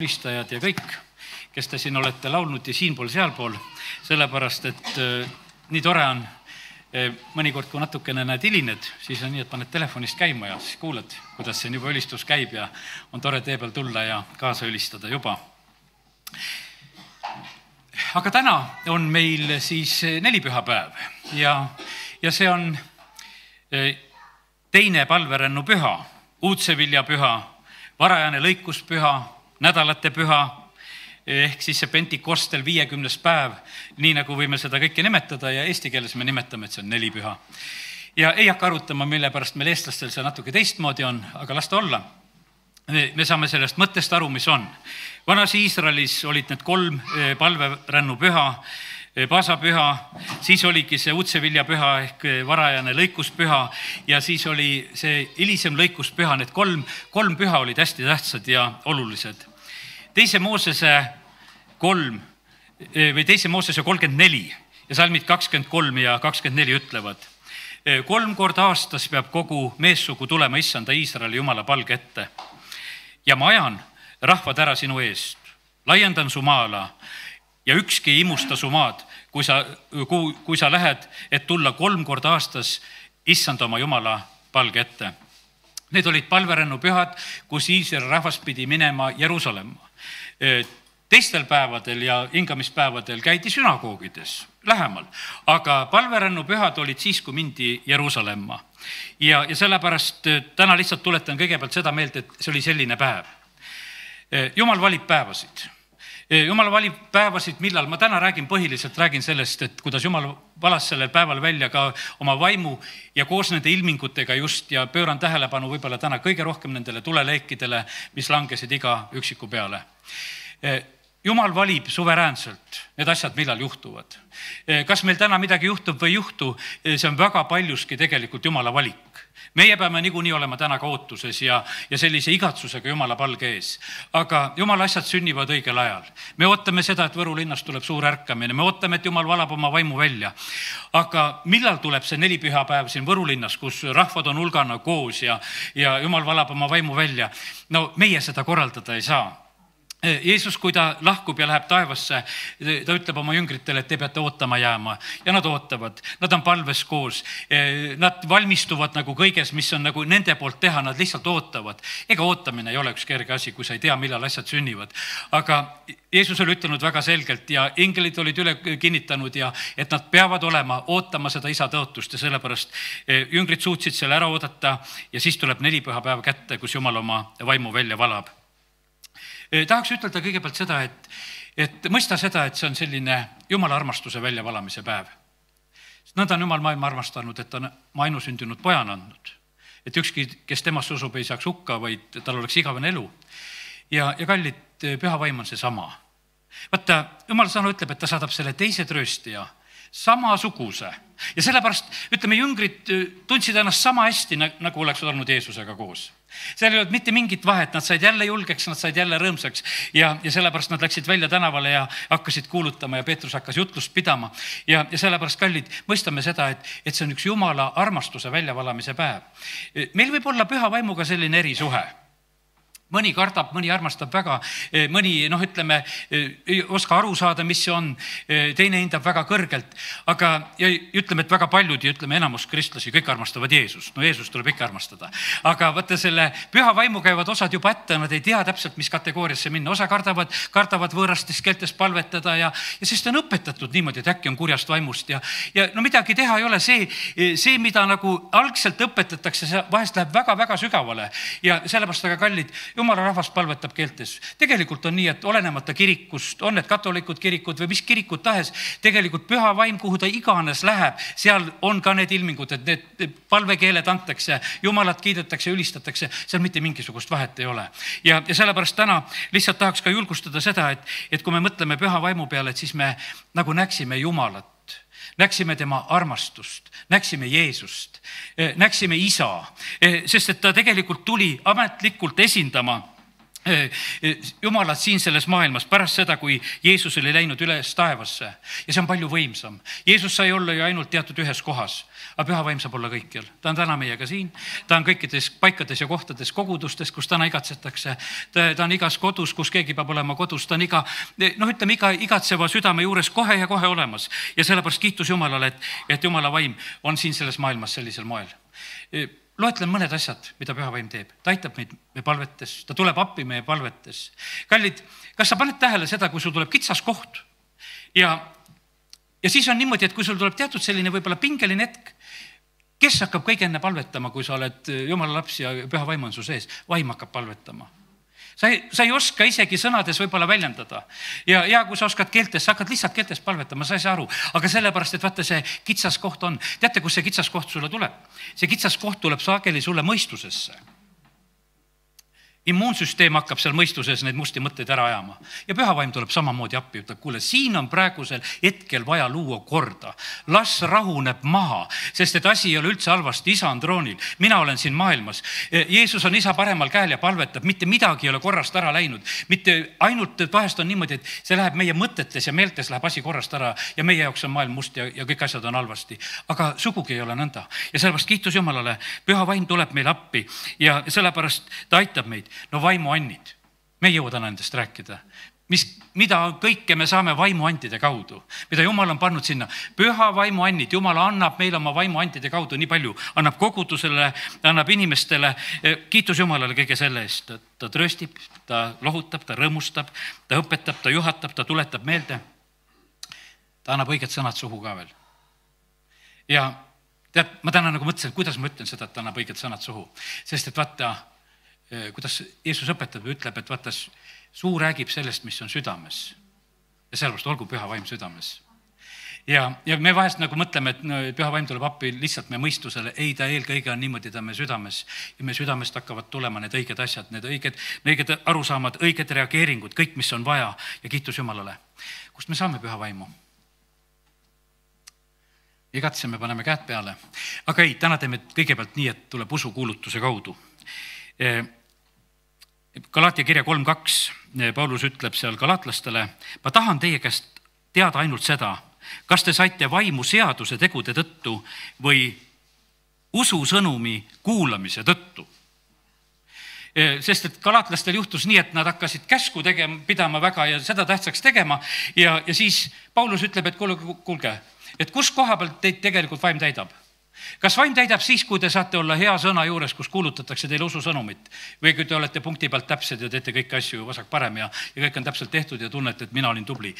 ülistajad ja kõik, kes te siin olete laulnud ja siinpool, sealpool, sellepärast, et nii tore on, mõnikord, kui natukene näed hilined, siis on nii, et paned telefonist käima ja siis kuuled, kuidas siin juba ülistus käib ja on tore tee peal tulla ja kaasa ülistada juba. Aga täna on meil siis nelipühapäev ja see on teine palverännu-püha, uudseviljapüha, varajane lõikuspüha, nädalate püha, ehk siis see Pentikostel 50. päev, nii nagu võime seda kõike nimetada ja eesti keeles me nimetame, et see on nelipüha. Ja ei hakka arutama, mille pärast meil eestlastel see natuke teistmoodi on, aga las ta olla. Me saame sellest mõttest aru, mis on. Vanas Iisraelis olid need 3 palverännupüha, paasapüha, siis oligi see uudseviljapüha ehk varajane lõikuspüha ja siis oli see hilisem lõikuspüha, need kolm püha olid hästi tähtsad ja olulised. Teise Moosese 34 ja salmid 23 ja 24 ütlevad: 3 korda aastas peab kogu meessugu tulema issanda Iisraeli Jumala palge ette ja ma ajan rahvad ära sinu eest, laiendan su maala ja ükski ei imusta su maad, kui sa lähed, et tulla 3 korda aastas issanda oma Jumala palge ette. Need olid palverännupühad, kus Iisraeli rahvas pidi minema Jeruusalemma. Teistel päevadel ja hingamispäevadel käidi sünagoogides lähemal, aga palverännupühad olid siis, kui mindi Jeruusalemma. Ja sellepärast täna lihtsalt tuletan kõigepealt seda meelt, et see oli selline päev. Jumal valib päevasid. Jumal valib päevasid, millal ma täna põhiliselt räägin sellest, et kuidas Jumal valas sellel päeval välja ka oma vaimu ja koos nende ilmingutega just ja pööran tähelepanu võib-olla täna kõige rohkem nendele tuleleekidele, mis langesid iga üksiku peale. Jumal valib suveräänselt need asjad, millal juhtuvad. Kas meil täna midagi juhtub või juhtu, see on väga paljuski tegelikult Jumala valik. Meie peame niikuinii olema täna ka ootuses ja sellise igatsusega Jumala palge ees. Aga Jumala asjad sünnivad õigel ajal. Me ootame seda, et Võru linnas tuleb suur ärkamine. Me ootame, et Jumal valab oma vaimu välja. Aga millal tuleb see nelipühapäev siin Võru linnas, kus rahvad on hulgana koos ja Jumal valab oma vaimu välja? No meie seda korraldada ei saa. Jeesus, kui ta lahkub ja läheb taevasse, ta ütleb oma jüngritele, et te peate ootama jääma ja nad ootavad, nad on palves koos, nad valmistuvad nagu kõiges, mis on nagu nende poolt teha, nad lihtsalt ootavad. Ega ootamine ei ole üks kerge asi, kui sa ei tea, millal asjad sünnivad. Aga Jeesus oli ütelnud väga selgelt ja engelid olid üle kinnitanud ja et nad peavad ootama seda isa tõotust ja sellepärast jüngrid suutsid selle ära oodata ja siis tuleb nelipühapäev kätte, kus Jumal oma vaimu välja valab. Tahaks ütelda kõigepealt seda, et mõista seda, et see on selline Jumala armastuse väljavalamise päev. Nõnda on Jumal maailma armastanud, et ta on ainusündinud pojan andnud. Et ükski, kes temast usub, ei saaks hukka, vaid tal oleks igavene elu. Ja kallid, püha vaim on see sama. Vaata, Jumal sõna ütleb, et ta saadab selle teise trööstija, samasuguse. Ja sellepärast, ütleme, jüngrid tundsid ennast sama hästi, nagu oleks olnud Jeesusega koos. Seal ei olnud mitte mingit vahet, nad said jälle julgeks, nad said jälle rõõmsaks ja sellepärast nad läksid välja tänavale ja hakkasid kuulutama ja Peetrus hakkas jutlust pidama. Ja sellepärast, kallid, mõistame seda, et see on üks Jumala armastuse väljavalamise päev. Meil võib olla püha vaimuga selline erisuhe. Mõni kardab, mõni armastab väga, mõni, ütleme, ei oska aru saada, mis see on, teine hindab väga kõrgelt, aga ütleme, et väga paljud ja ütleme, enamus kristlasi kõik armastavad Jeesust. No Jeesust tuleb ikka armastada. Aga võtta selle püha vaimu käivad osad juba ette, nad ei tea täpselt, mis kategooriasse minna. Osa kardavad võõrastes keeltes palvetada ja siis ta on õpetatud niimoodi, et äkki on kurjast vaimust ja no midagi teha ei ole. See, mida nagu algselt õpetatakse, see vahest läheb väga-väga sügavale ja sellepärast aga kallid, Jumala rahvas palvetab keeltes. Tegelikult on nii, et olenemata kirikust, on need katolikud kirikud või mis kirikud tahes, tegelikult püha vaim, kuhu ta iganes läheb, seal on ka need ilmingud, et need palvekeeled antakse, Jumalat kiidetakse, ülistatakse, seal mitte mingisugust vahet ei ole. Ja sellepärast täna lihtsalt tahaks ka julgustada seda, et kui me mõtleme püha vaimu peale, et siis me nagu näksime Jumalat, näksime tema armastust, näksime Jeesust, näksime isa, sest et ta tegelikult tuli ametlikult esindama Jumalat siin selles maailmas pärast seda, kui Jeesus oli läinud üles taevasse ja see on palju võimsam. Jeesus sai olla ju ainult teatud ühes kohas, aga Püha Vaim saab olla kõikjal. Ta on täna meiega siin, ta on kõikides paikades ja kohtades, kogudustes, kus täna igatsetakse. Ta on igas kodus, kus keegi peab olema kodus, ta on iga igatseva südame juures kohe ja kohe olemas. Ja sellepärast kiitus Jumalale, et Jumala Vaim on siin selles maailmas sellisel moel. Loetlen mõned asjad, mida Püha Vaim teeb. Ta aitab meid meie palvetes, ta tuleb appi meie palvetes. Kallid, kas sa paned tähele seda, kui sul tuleb kitsas koht ja siis on niimoodi, et kui sul tuleb teatud selline võib-olla pingeline hetk, kes hakkab kõige enne palvetama, kui sa oled Jumala laps ja Püha Vaim on su sees? Vaim hakkab palvetama. Sa ei oska isegi sõnades võib-olla väljendada. Ja kui sa oskad keeltes, sa hakkad lihtsalt keeltes palvetama, sa ei saa aru. Aga sellepärast, et vaata see kitsas koht on. Teate, kus see kitsas koht sulle tuleb? See kitsas koht tuleb sageli sulle mõistusesse. Immuunsüsteem hakkab seal mõistuses neid musti mõtteid ära ajama. Ja Püha Vaim tuleb samamoodi appi, ütleb, kuule, siin on praegusel hetkel vaja luua korda. Las rahuneb maha, sest et asi ei ole üldse halvasti, isa on troonil. Mina olen siin maailmas. Jeesus on isa paremal käel ja palvetab, mitte midagi ei ole korrast ära läinud. Mitte ainult, et vahest on niimoodi, et see läheb meie mõtetes ja meeltes läheb asi korrast ära ja meie jaoks on maailm must ja kõik asjad on halvasti. Aga sugugi ei ole nõnda. Ja sellepärast kiitus Jumalale, Püha Vaim tuleb meil appi ja sellepärast ta aitab meid. No vaimuannid, me ei jõua täna nendest rääkida, mida kõike me saame vaimuantide kaudu, mida Jumal on pannud sinna. Püha vaimuannid, Jumal annab meile oma vaimuantide kaudu nii palju, annab kogudusele, annab inimestele, kiitus Jumalale kõige selle eest. Ta tröstib, ta lohutab, ta rõõmustab, ta õpetab, ta juhatab, ta tuletab meelde. Ta annab õiged sõnad suhu ka veel. Ja tead, ma täna nagu mõtlesin, kuidas ma ütlen seda, et ta annab õiged sõnad suhu, sest et vaata, kuidas Jeesus õpetab ja ütleb, et vaata, suu räägib sellest, mis on südames. Ja sellepärast olgu Püha Vaim südames. Ja me vahest nagu mõtleme, et Püha Vaim tuleb appi lihtsalt meie mõistusele. Ei, ta eelkõige on niimoodi, ta meie südames. Ja meie südamest hakkavad tulema need õiged asjad, need õiged arusaamad, õiged reageeringud, kõik, mis on vaja. Ja kiitus Jumalale. Kust me saame Püha Vaimu? Igatseme, paneme käed peale. Aga ei, täna teeme kõigepealt nii, et tuleb usukuulutuse kaudu. Galaatia kirja 3.2 Paulus ütleb seal galaatlastele, ma tahan teie käest teada ainult seda, kas te saite vaimu seaduse tegude tõttu või ususõnumi kuulamise tõttu. Sest et galaatlastel juhtus nii, et nad hakkasid käsku pidama väga ja seda tähtsaks tegema ja siis Paulus ütleb, et kuulge, et kus koha pealt teid tegelikult vaim täidab? Kas vaim täidab siis, kui te saate olla hea sõna juures, kus kuulutatakse teile ususõnumit või kui te olete punkti pealt täpsed ja teete kõiki asju vasak parem ja kõik on täpselt tehtud ja tunnete, et mina olin tubli.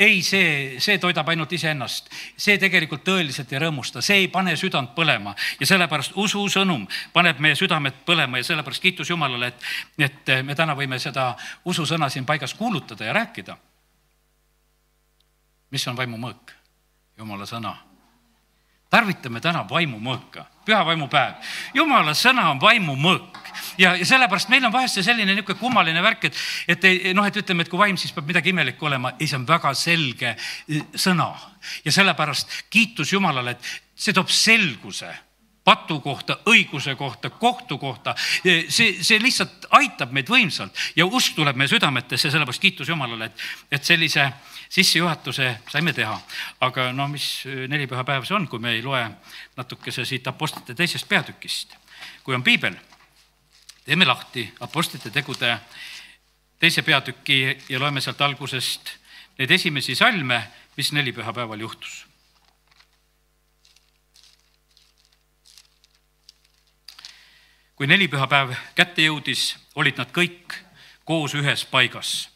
Ei, see toidab ainult iseennast. See tegelikult tõeliselt ei rõõmusta. See ei pane südant põlema ja sellepärast ususõnum paneb meie südamed põlema ja sellepärast kiitus Jumalale, et me täna võime seda ususõna siin paigas kuulutada ja rääkida. Mis on vaimu mõõk? Jumala sõna. Tarvitame täna vaimu mõõka, Püha Vaimu päev. Jumala sõna on vaimu mõõk ja sellepärast meil on vahest see selline niisugune kummaline värk, et ütleme, et kui vaim, siis peab midagi imelikku olema. Ei, see on väga selge sõna ja sellepärast kiitus Jumalale, et see toob selguse patu kohta, õiguse kohta, kohtu kohta. See lihtsalt aitab meid võimsalt ja usk tuleb meie südametesse, sellepärast kiitus Jumalale, et sellise sissejuhatuse saime teha. Aga mis 4 püha päev see on, kui me ei loe natukese siit apostlite 2. peatükist. Kui on piibel, teeme lahti apostlite tegude 2. peatüki ja loeme sealt algusest neid esimesi salme, mis 4 püha päeval juhtus. Kui 4 püha päev kätte jõudis, olid nad kõik koos ühes paigas.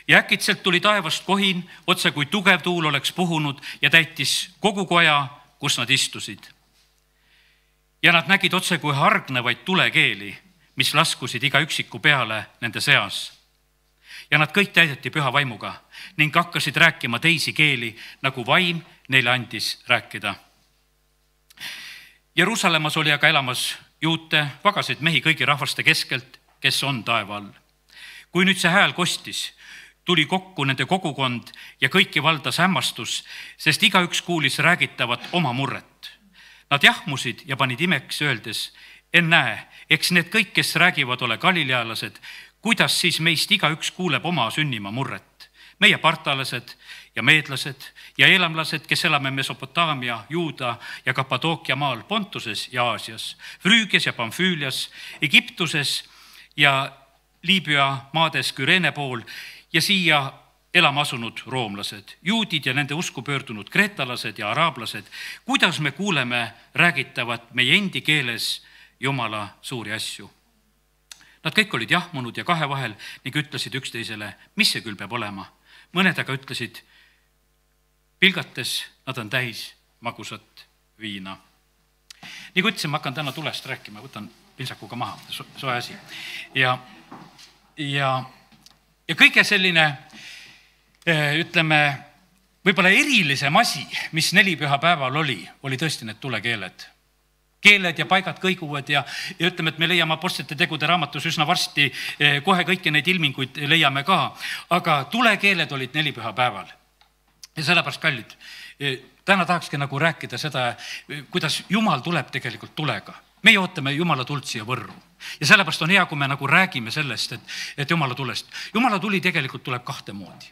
Ja äkitselt tuli taevast kohin, otse kui tugev tuul oleks puhunud ja täitis kogu koja, kus nad istusid. Ja nad nägid otse kui hargnevaid tulekeeli, mis laskusid iga üksiku peale nende seas. Ja nad kõik täideti Püha Vaimuga ning hakkasid rääkima teisi keeli, nagu vaim neile andis rääkida. Jeruusalemmas oli aga elamas juute, vagasid mehi kõigi rahvaste keskelt, kes on taeva all. Kui nüüd see hääl kostis, tuli kokku nende kogukond ja kõiki valdas hämmastus, sest igaüks kuulis räägitavat oma murret. Nad jahmusid ja panid imeks öeldes, ennäe, eks need kõik, kes räägivad, ole galilealased, kuidas siis meist igaüks kuuleb oma sünnimaa murret. Meie partalased ja meedlased ja elamlased, kes elame Mesopotaamia, Juuda ja Kapadookia maal, Pontuses ja Aasias, Früügias ja Pamfüülias, Egiptuses ja Liibüa maades Küreene pool ja siia elama asunud roomlased, juudid ja nende usku pöördunud kreetalased ja araablased, kuidas me kuuleme räägitavat meie endi keeles Jumala suuri asju. Nad kõik olid jahmunud ja kahe vahel ning ütlesid üksteisele, mis see küll peab olema. Mõned aga ütlesid, pilgates nad on täis magusat viina. Nii kui ütlesin, ma hakkan täna tulest rääkima, võtan pintsakuga maha, soe asi. Ja kõige selline, ütleme, võib-olla erilisem asi, mis nelipühapäeval oli tõesti need tulekeeled. Keeled ja paigad kõiguvad ja ütleme, et me leiame Apostlite tegude raamatus üsna varsti, kohe kõiki neid ilminguid leiame ka, aga tulekeeled olid nelipühapäeval. Ja sellepärast kallid, täna tahakski nagu rääkida seda, kuidas Jumal tuleb tegelikult tulega. Meie ootame Jumala tuld siia Võrru. Ja sellepärast on hea, kui me nagu räägime sellest, et Jumala tulest. Jumala tuli tegelikult tuleb kahte moodi.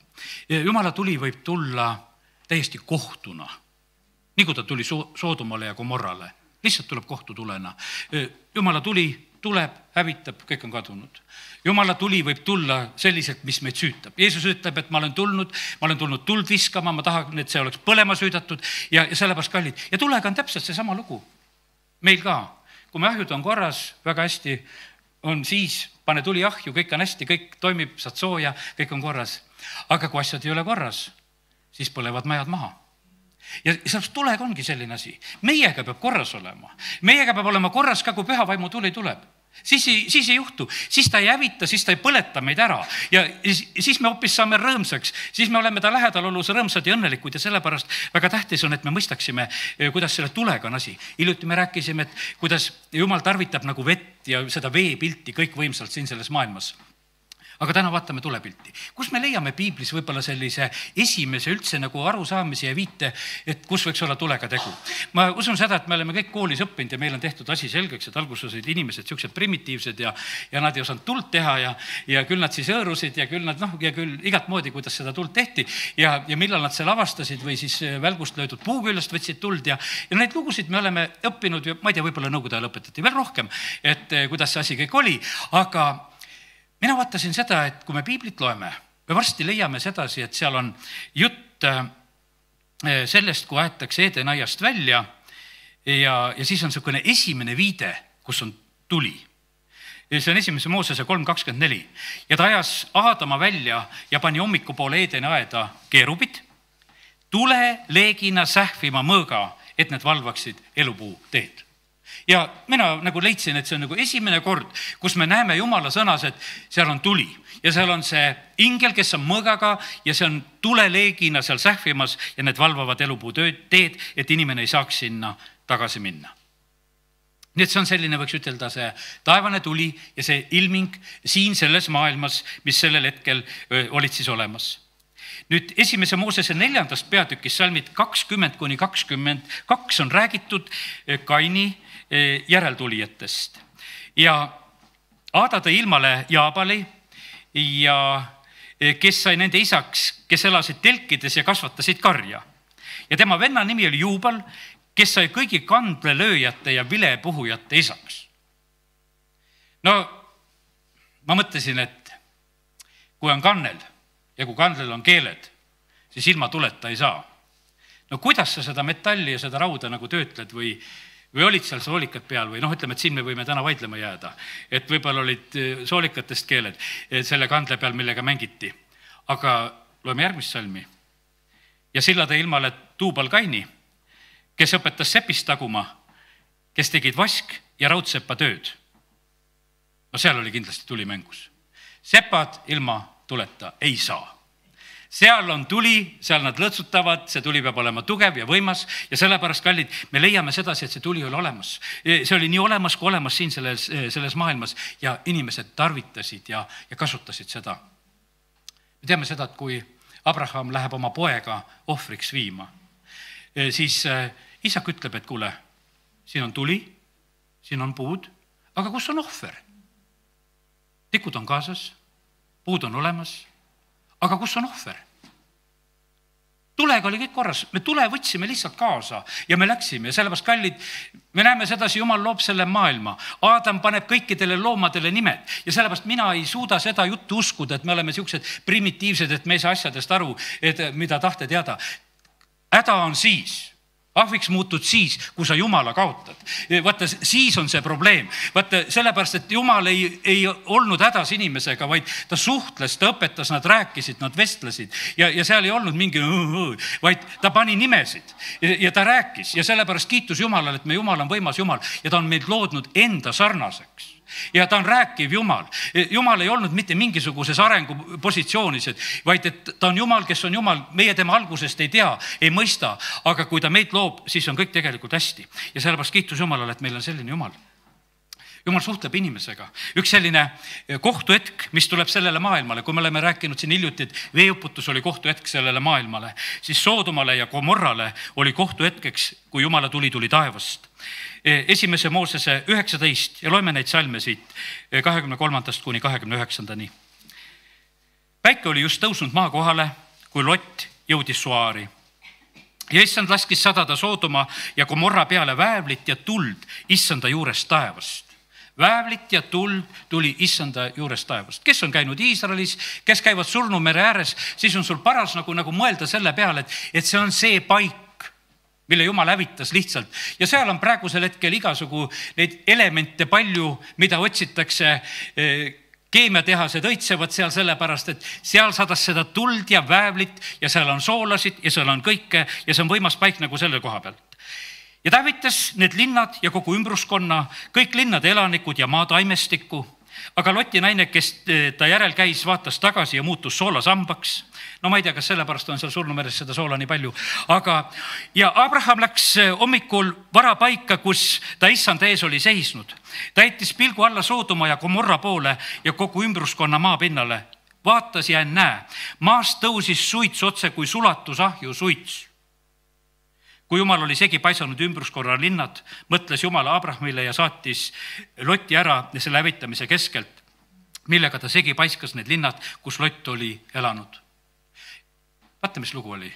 Jumala tuli võib tulla täiesti kohtuna, nagu ta tuli Soodomale ja Gomorrale. Lihtsalt tuleb kohtutulena. Jumala tuli tuleb, hävitab, kõik on kadunud. Jumala tuli võib tulla selliselt, mis meid süütab. Jeesus ütleb, et ma olen tulnud tuld viskama, ma tahan, et see oleks põlema süüdatud ja sellepärast kallid. Ja tulega on täpselt see sama lugu. Meil ka. Kui me ahjud on korras, väga hästi on siis, pane tuli ahju, kõik on hästi, kõik toimib, saad sooja, kõik on korras. Aga kui asjad ei ole korras, siis põlevad majad maha. Ja sellepärast tulega ongi selline asi. Meiega peab korras olema. Meiega peab olema korras ka, kui püha vaimu tuli tuleb. Siis ei juhtu, siis ta ei hävita, siis ta ei põleta meid ära ja siis me hoopis saame rõõmsaks, siis me oleme ta lähedal olus rõõmsad ja õnnelikud ja sellepärast väga tähtis on, et me mõistaksime, kuidas selle tulega on asi. Hiljuti me rääkisime, et kuidas Jumal tarvitab nagu vett ja seda veepilti kõik võimsalt siin selles maailmas. Aga täna vaatame tulepilti. Kus me leiame piiblis võib-olla sellise esimese üldse nagu arusaamise ja viite, et kus võiks olla tulega tegu. Ma usun seda, et me oleme kõik koolis õppinud ja meil on tehtud asi selgeks, et alguses olid inimesed siuksed primitiivsed ja nad ei osanud tuld teha ja küll nad siis hõõrusid ja küll nad ja küll igat moodi, kuidas seda tuld tehti ja millal nad selle avastasid või siis välgust löödud puuküljest võtsid tuld ja neid lugusid me oleme õppinud ja ma ei tea, võib-olla nõukogude ajal õpetati veel rohkem, et kuidas see asi kõik oli, aga mina vaatasin seda, et kui me piiblit loeme, me varsti leiame sedasi, et seal on jutt sellest, kui aetakse Edenaiast välja ja siis on niisugune esimene viide, kus on tuli. See on 1. Moosese 3:24 ja ta ajas Aadama välja ja pani hommikupoole Edeni aeda keerubid, tule leegina sähvima mõõga, et need valvaksid elupuu teed. Ja mina nagu leidsin, et see on nagu esimene kord, kus me näeme Jumala sõnas, et seal on tuli ja seal on see ingel, kes on mõõgaga ja see on tuleleegina seal sähvimas ja need valvavad elupuu teed, et inimene ei saaks sinna tagasi minna. Nii et see on selline, võiks ütelda, see taevane tuli ja see ilming siin selles maailmas, mis sellel hetkel olid siis olemas. Nüüd 1. Moosese 4. peatükis salmid 20-22 on räägitud Kaini järeltulijatest. Ja Aada tõi ilmale Jaabali ja kes sai nende isaks, kes elasid telkides ja kasvatasid karja. Ja tema venna nimi oli Juubal, kes sai kõigi kandlelööjate ja vilepuhujate isaks. No ma mõtlesin, et kui on kannel ja kui kandlel on keeled, siis ilma tuleta ei saa. No kuidas sa seda metalli ja seda rauda nagu töötled või olid seal soolikad peal või ütleme, et siin me võime täna vaidlema jääda, et võib-olla olid soolikatest keeled selle kandle peal, millega mängiti. Aga loeme järgmist salmi. Ja silla tõi ilmale Tuubal Kaini, kes õpetas sepist taguma, kes tegid vask ja raudsepa tööd. No seal oli kindlasti tuli mängus. Sepad ilma tuleta ei saa. Seal on tuli, seal nad lõtsutavad, see tuli peab olema tugev ja võimas ja sellepärast, kallid, me leiame sedasi, et see tuli oli olemas. See oli nii olemas kui olemas siin selles maailmas ja inimesed tarvitasid ja kasutasid seda. Me teame seda, et kui Abraham läheb oma poega ohvriks viima, siis isak ütleb, et kuule, siin on tuli, siin on puud, aga kus on ohver? Tikud on kaasas, puud on olemas, aga kus on ohver? Tulega oli kõik korras, me tule võtsime lihtsalt kaasa ja me läksime ja sellepärast kallid, me näeme sedasi, Jumal loob selle maailma. Aadam paneb kõikidele loomadele nimed ja sellepärast mina ei suuda seda juttu uskuda, et me oleme siuksed primitiivsed, et me ei saa asjadest aru, et mida tahte teada. Häda on siis. Ahviks muutud siis, kui sa Jumala kaotad. Vaata, siis on see probleem. Vaata, sellepärast, et Jumal ei olnud hädas inimesega, vaid ta suhtles, ta õpetas, nad rääkisid, nad vestlesid ja seal ei olnud mingi, vaid ta pani nimesid ja ta rääkis ja sellepärast kiitus Jumalale, et me Jumal on võimas Jumal ja ta on meid loodnud enda sarnaseks. Ja ta on rääkiv Jumal. Jumal ei olnud mitte mingisuguses arengupositsioonis, vaid et ta on Jumal, kes on Jumal. Meie tema algusest ei tea, ei mõista, aga kui ta meid loob, siis on kõik tegelikult hästi. Ja sellepärast kiitus Jumalale, et meil on selline Jumal. Jumal suhtleb inimesega. Üks selline kohtuhetk, mis tuleb sellele maailmale, kui me oleme rääkinud siin hiljuti, et veeuputus oli kohtuhetk sellele maailmale, siis Soodomale ja Gomorrale oli kohtuhetkeks, kui Jumala tuli taevast. Esimese Moosese 19 ja loeme neid salme siit 23. kuni 29. Päike oli just tõusnud maa kohale, kui Lott jõudis Soari. Ja issand laskis sadada Soodoma ja Gomorra peale väävlit ja tuld issanda juurest taevast. Väävlit ja tuld tuli issanda juurest taevast. Kes on käinud Iisraelis, kes käivad Surnumere ääres, siis on sul paras nagu mõelda selle peale, et see on see paik, mille Jumal hävitas lihtsalt. Ja seal on praegusel hetkel igasugu neid elemente palju, mida otsitakse. Keemiatehased õitsevad seal sellepärast, et seal sadas seda tuld ja väävlit ja seal on soolasid ja seal on kõike ja see on võimas paik nagu selle koha pealt. Ja ta hävitas need linnad ja kogu ümbruskonna, kõik linnade elanikud ja maataimestikku. Aga Loti naine, kes ta järel käis, vaatas tagasi ja muutus soolasambaks. No ma ei tea, kas sellepärast on seal Surnumeres seda soola nii palju. Ja Abraham läks hommikul vara paika, kus ta issanda ees oli seisnud. Ta jättis pilgu alla Soodoma ja Gomorra poole ja kogu ümbruskonna maapinnale. Vaatas ja näe, maast tõusis suits otse kui sulatusahju suits. Kui Jumal oli segi paisanud ümbruskorra linnad, mõtles Jumal Abrahamile ja saatis Loti ära selle hävitamise keskelt, millega ta segi paiskas need linnad, kus Lott oli elanud. Vaata, mis lugu oli.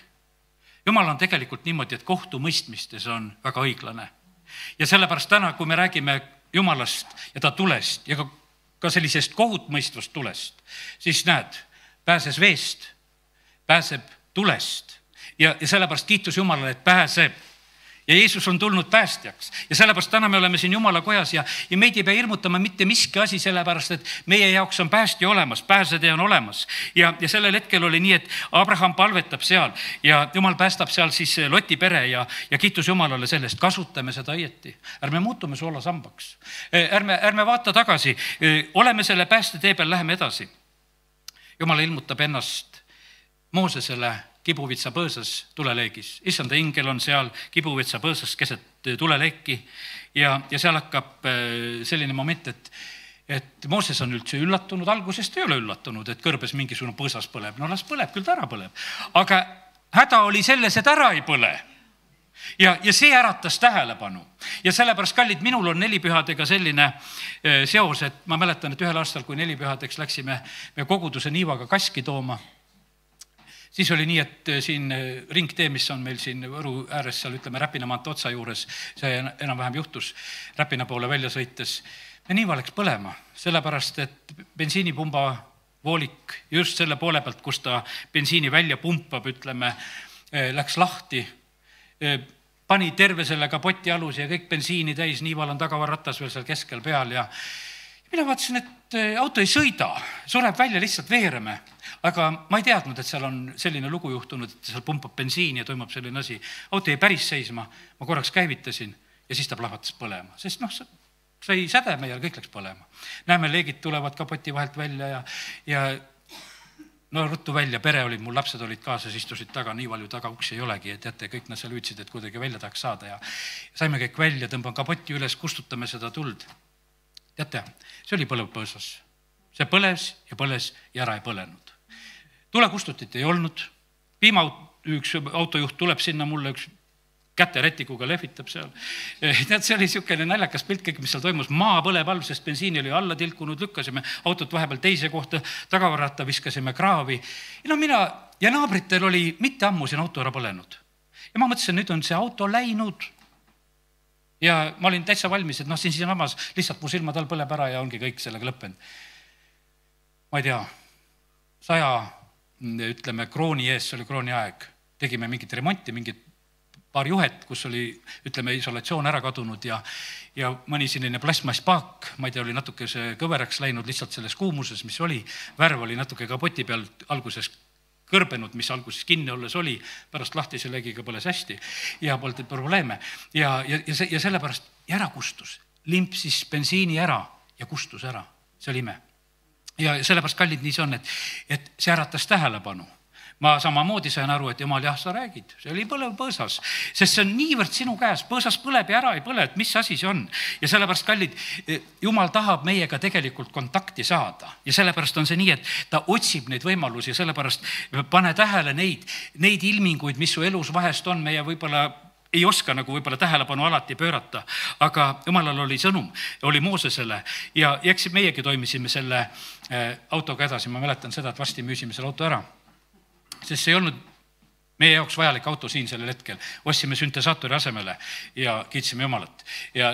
Jumal on tegelikult niimoodi, et kohtumõistmistes on väga õiglane. Ja sellepärast täna, kui me räägime Jumalast ja ta tulest ja ka sellisest kohutmõistvast tulest, siis näed, pääses veest, pääseb tulest. Ja sellepärast kiitus Jumalale, et pääseb. Ja Jeesus on tulnud päästjaks. Ja sellepärast täna me oleme siin Jumala kojas ja meid ei pea hirmutama mitte miski asi sellepärast, et meie jaoks on päästja olemas, pääsetee on olemas. Ja sellel hetkel oli nii, et Abraham palvetab seal ja Jumal päästab seal siis Loti pere ja kiitus Jumalale sellest. Kasutame seda õieti. Ärme muutume soolasambaks. Ärme vaata tagasi. Oleme selle päästetee peal, läheme edasi. Jumal ilmutab ennast Moosesele Kibuvitsa põõsas tuleleegis. Issanda ingel on seal Kibuvitsa põõsas keset tuleleeki ja seal hakkab selline moment, et Mooses on üldse üllatunud, algusest ei ole üllatunud, et kõrbes mingisugune põõsas põleb. No las põleb, küll ta ära põleb. Aga häda oli selles, et ära ei põle. Ja see äratas tähelepanu. Ja sellepärast, kallid, minul on nelipühadega selline seos, et ma mäletan, et ühel aastal, kui nelipühadeks läksime me koguduse Niivaga kaski tooma, siis oli nii, et siin ringtee, mis on meil siin Võru ääres, seal ütleme Räpina maantee otsa juures, see enam-vähem juhtus Räpina poole välja sõites. Ja Niiva läks põlema, sellepärast, et bensiinipumba voolik just selle poole pealt, kus ta bensiini välja pumpab, ütleme, läks lahti, pani terve selle kapoti alus ja kõik bensiini täis, Niival on tagavarratas veel seal keskel peal ja mina vaatasin, et auto ei sõida, sureb välja lihtsalt veereme. Aga ma ei teadnud, et seal on selline lugu juhtunud, et seal pumpab bensiini ja toimub selline asi. Auto jäi päris seisma, ma korraks käivitasin ja siis ta plahvatas põlema. Sest sai sädeme ja kõik läks põlema. Näeme, leegid tulevad kapoti vahelt välja ja ruttu välja, pere olid, mul lapsed olid kaasas, istusid taga, Niival ju taga uksi ei olegi, et jätte, kõik nad seal hüüdsid, et kuidagi välja tahaks saada ja saime kõik välja, tõmban kapoti üles, kustutame seda tuld. Teate, see oli põlev põõsas. See põles ja ära ei põlenud. Tulekustutit ei olnud. Üks autojuht tuleb sinna mulle, üks käterätikuga lehvitab seal. Tead, see oli niisugune naljakas pilt kõik, mis seal toimus. Maa põleb all, sest bensiini oli alla tilkunud, lükkasime autot vahepeal teise kohta, tagavarata viskasime kraavi. Mina ja naabritel oli mitte ammu siin auto ära põlenud. Ja ma mõtlesin, nüüd on see auto läinud. Ja ma olin täitsa valmis, et siin amas lihtsalt mu silmad all põleb ära ja ongi kõik sellega lõppenud. Ma ei tea, 100, ütleme, krooni ees, see oli krooni aeg. Tegime mingit remonti, mingit paar juhet, kus oli, ütleme, isolatsioon ära kadunud ja mõni selline plasmasspaak, ma ei tea, oli natuke see kõveraks läinud lihtsalt selles kuumuses, mis oli. Värv oli natuke kapoti peal alguses kõrbenud, mis alguses kinni olles oli, pärast lahtise legiga põles hästi ja polnud probleeme. Ja sellepärast ära kustus, limpsis bensiini ära ja kustus ära. See oli ime. Ja sellepärast, kallid, nii see on, et see äratas tähelepanu. Ma samamoodi sain aru, et jumal, jah, sa räägid, see oli põlev põõsas, sest see on niivõrd sinu käes, põõsas põleb ja ära ei põle, et mis asi see on. Ja sellepärast, kallid, jumal tahab meiega tegelikult kontakti saada ja sellepärast on see nii, et ta otsib neid võimalusi ja sellepärast pane tähele neid ilminguid, mis su elus vahest on, meie võib-olla ei oska nagu võib-olla tähelepanu alati pöörata, aga jumalal oli sõnum, oli Moosesele ja eks meiegi toimisime selle autoga edasi. Ma mäletan seda, et vasti müüsime selle auto ära. Sest see ei olnud meie jaoks vajalik auto siin sellel hetkel. Ostsime süntesaatori asemele ja kiitsime Jumalat. Ja